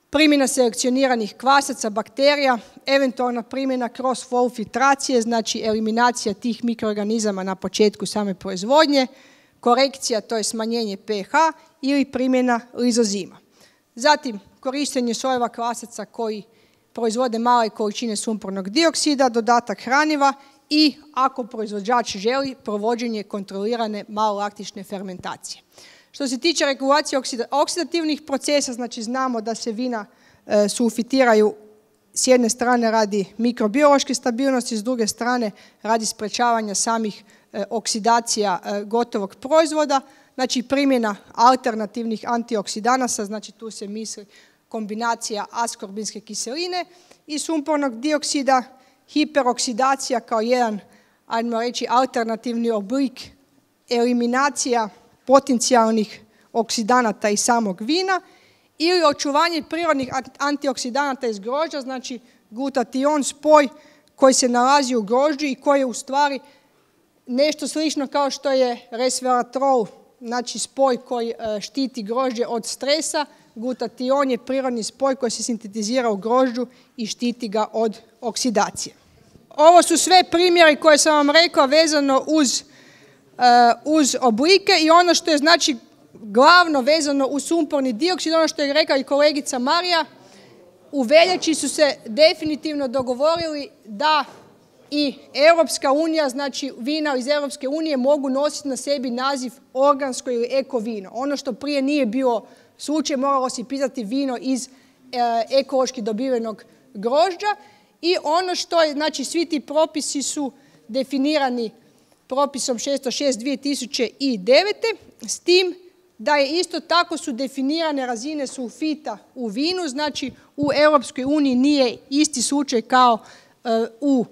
primjena selekcioniranih kvasaca, bakterija, eventualna primjena cross-flow filtracije, znači eliminacija tih mikroorganizama na početku same proizvodnje, korekcija, to je smanjenje pH ili primjena lizozima. Zatim, korištenje sojeva kvasaca koji proizvode male količine sumpornog dioksida, dodatak hraniva i, ako proizvođač želi, provođenje kontrolirane malolaktične fermentacije. Što se tiče regulacije oksidativnih procesa, znači znamo da se vina sulfitiraju s jedne strane radi mikrobiološke stabilnosti, s druge strane radi sprečavanja samih oksidacija gotovog proizvoda, znači primjena alternativnih antioksidanasa, znači tu se misli kombinacija askorbinske kiseline i sumpornog dioksida, hiperoksidacija kao jedan, ajmo reći, alternativni oblik eliminacija potencijalnih oksidanata iz samog vina ili očuvanje prirodnih antioksidanata iz grožđa, znači glutation, spoj koji se nalazi u grožđu i koji je u stvari nešto slično kao što je resveratrol, znači spoj koji štiti grožđe od stresa. Glutation je prirodni spoj koji se sintetizira u grožđu i štiti ga od oksidacije. Ovo su sve primjeri koje sam vam rekla vezano uz oblike i ono što je znači glavno vezano uz sumporni dioksid, ono što je rekla i kolegica Marija, u veljači su se definitivno dogovorili da i Europska unija, znači vina iz Europske unije mogu nositi na sebi naziv organsko ili eko vino. Ono što prije nije bilo slučaj, moralo se pitati vino iz ekološki dobivenog grožđa i ono što je, znači svi ti propisi su definirani propisom 606/2009, s tim da je isto tako su definirane razine sulfita u vinu, znači u Europskoj uniji nije isti slučaj kao u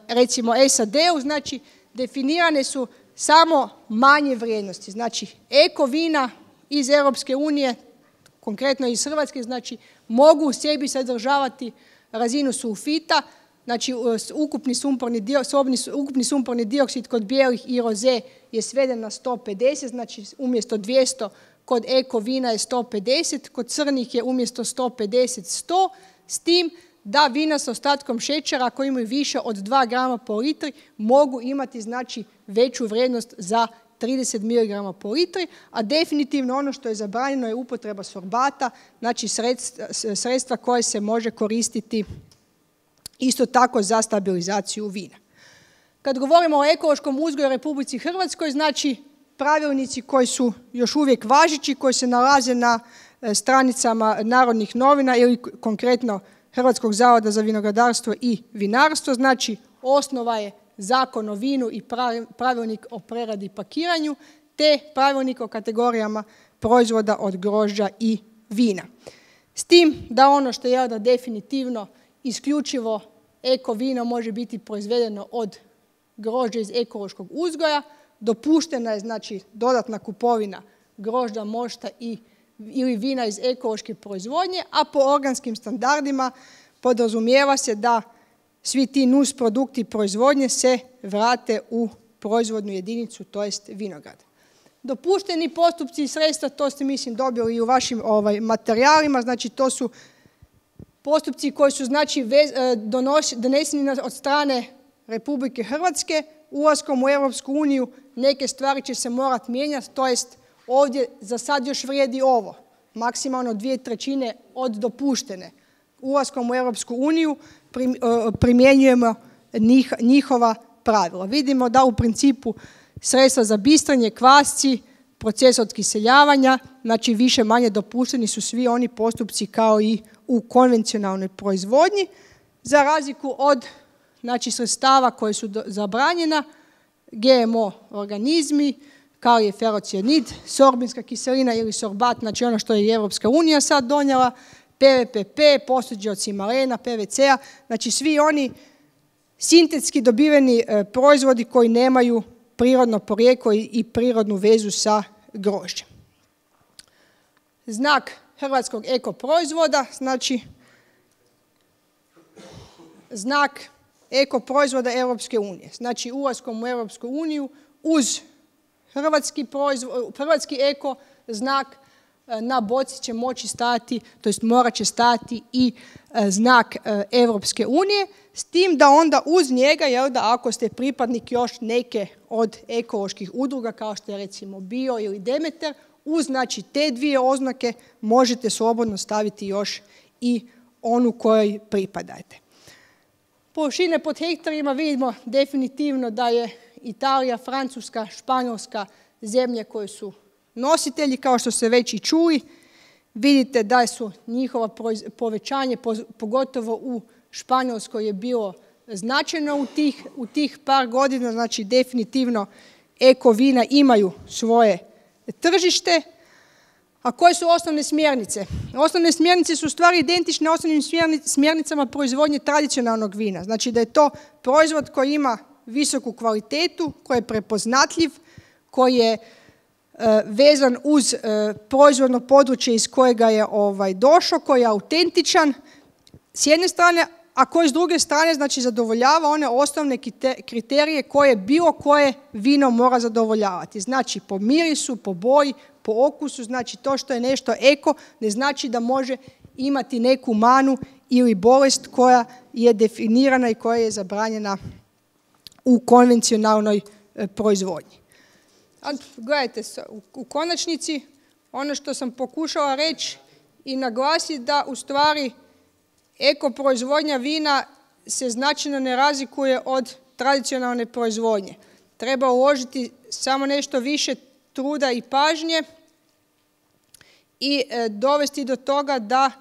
recimo SAD-u, znači definirane su samo manje vrijednosti. Znači eko vina iz Europske unije, konkretno iz Hrvatske, znači mogu u sebi sadržavati razinu sulfita, znači ukupni sumporni dioksid kod bijelih i roze je sveden na 150, znači umjesto 200 kod eko vina je 150, kod crnih je umjesto 150 100, s tim da vina s ostatkom šećera koji imaju više od 2 grama po litri mogu imati znači veću vrijednost za 30 mg po litri, a definitivno ono što je zabranjeno je upotreba sorbata, znači sredstva koje se može koristiti isto tako za stabilizaciju vina. Kad govorimo o ekološkom uzgoju u Republici Hrvatskoj, znači pravilnici koji su još uvijek važeći, koji se nalaze na stranicama Narodnih novina ili konkretno Hrvatskog zavoda za vinogradarstvo i vinarstvo, znači osnova je Zakon o vinu i pravilnik o preradi i pakiranju, te pravilnik o kategorijama proizvoda od grožđa i vina. S tim da ono što je da definitivno isključivo eko vino može biti proizvedeno od grožđa iz ekološkog uzgoja, dopuštena je znači dodatna kupovina grožđa, mošta ili vina iz ekološke proizvodnje, a po organskim standardima podrazumijeva se da svi ti nus produkti proizvodnje se vrate u proizvodnu jedinicu, to jest vinograd. Dopušteni postupci i sredstva, to ste mislim dobili i u vašim materijalima, znači to su postupci koji su znači doneseni od strane Republike Hrvatske. Ulaskom u Europsku uniju neke stvari će se morati mijenjati, to jest ovdje za sad još vrijedi ovo, maksimalno 2/3 od dopuštene. Ulaskom u Europsku uniju primjenjujemo njihova pravila. Vidimo da u principu sredstva za bistranje, kvasci, proces otkiseljavanja, znači više manje dopušteni su svi oni postupci kao i u konvencionalnoj proizvodnji, za razliku od znači, sredstava koje su zabranjena, GMO organizmi, kao je ferocijanid, sorbinska kiselina ili sorbat, znači ono što je i Europska unija sad donijela, PVPP, posuđe od cimarena, PVC-a, znači svi oni sintetski dobiveni proizvodi koji nemaju prirodno porijeklo i prirodnu vezu sa grožđem. Znak hrvatskog eko proizvoda, znači znak eko proizvoda Europske unije. Znači ulaskom u Europsku uniju uz hrvatski eko znak na boci će moći stajati, to jest morat će stajati i znak Europske unije, s tim da onda uz njega, ako ste pripadnik još neke od ekoloških udruga, kao što je recimo Bio ili Demeter, uz znači, te dvije oznake možete slobodno staviti još i onu kojoj pripadajte. Površine pod hektarima vidimo definitivno da je Italija, Francuska, Španjolska zemlje koje su nositelji, kao što ste već i čuli. Vidite da su njihova povećanje, pogotovo u Španjolskoj, je bilo značajno u tih par godina, znači definitivno eko vina imaju svoje tržište. A koje su osnovne smjernice? Osnovne smjernice su u stvari identične osnovnim smjernicama proizvodnje tradicionalnog vina. Znači da je to proizvod koji ima visoku kvalitetu, koji je prepoznatljiv, koji je vezan uz proizvodno područje iz kojega je došao, koji je autentičan s jedne strane, a koji s druge strane znači zadovoljava one osnovne kriterije koje bilo koje vino mora zadovoljavati. Znači po mirisu, po boji, po okusu, znači to što je nešto eko ne znači da može imati neku manu ili bolest koja je definirana i koja je zabranjena u konvencionalnoj proizvodnji. Gledajte, u konačnici ono što sam pokušala reći i naglasiti da u stvari eko proizvodnja vina se značajno ne razlikuje od tradicionalne proizvodnje. Treba uložiti samo nešto više truda i pažnje i dovesti do toga da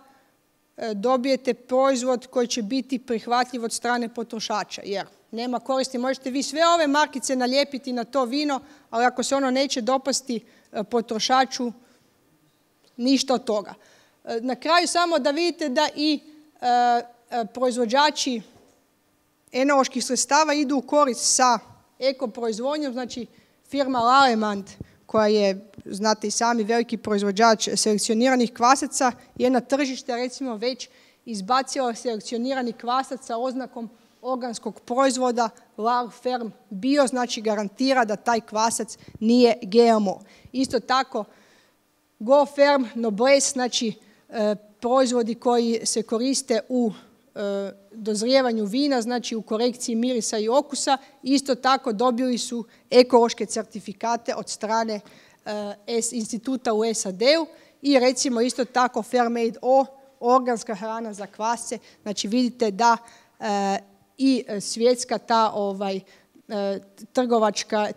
dobijete proizvod koji će biti prihvatljiv od strane potrošača. Jer nema koristi. Možete vi sve ove markice nalijepiti na to vino, ali ako se ono neće dopasti potrošaču, ništa od toga. Na kraju samo da vidite da i proizvođači enoloških sredstava idu u korist sa eko proizvodnjom, znači firma Lallemand koja je, znate i sami, veliki proizvođač selekcioniranih kvasaca je na tržište recimo već izbacila selekcionirani kvasac sa oznakom organskog proizvoda Lal Ferm Bio, znači garantira da taj kvasac nije GMO. Isto tako Go Ferm Noblesse, znači proizvodi koji se koriste u dozrijevanju vina, znači u korekciji mirisa i okusa, isto tako dobili su ekološke certifikate od strane instituta u SAD-u i recimo isto tako Fairmade O, organska hrana za kvasce. Znači vidite da i svjetska ta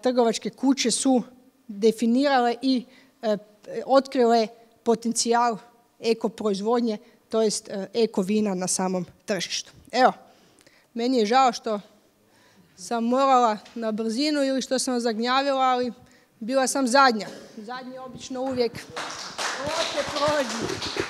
trgovačke kuće su definirale i otkrile potencijal eko proizvodnje, to jest eko vina na samom tržištu. Evo, meni je žao što sam morala na brzinu ili što sam zagnjavila, ali bila sam zadnja. Zadnji obično uvijek loše prođu.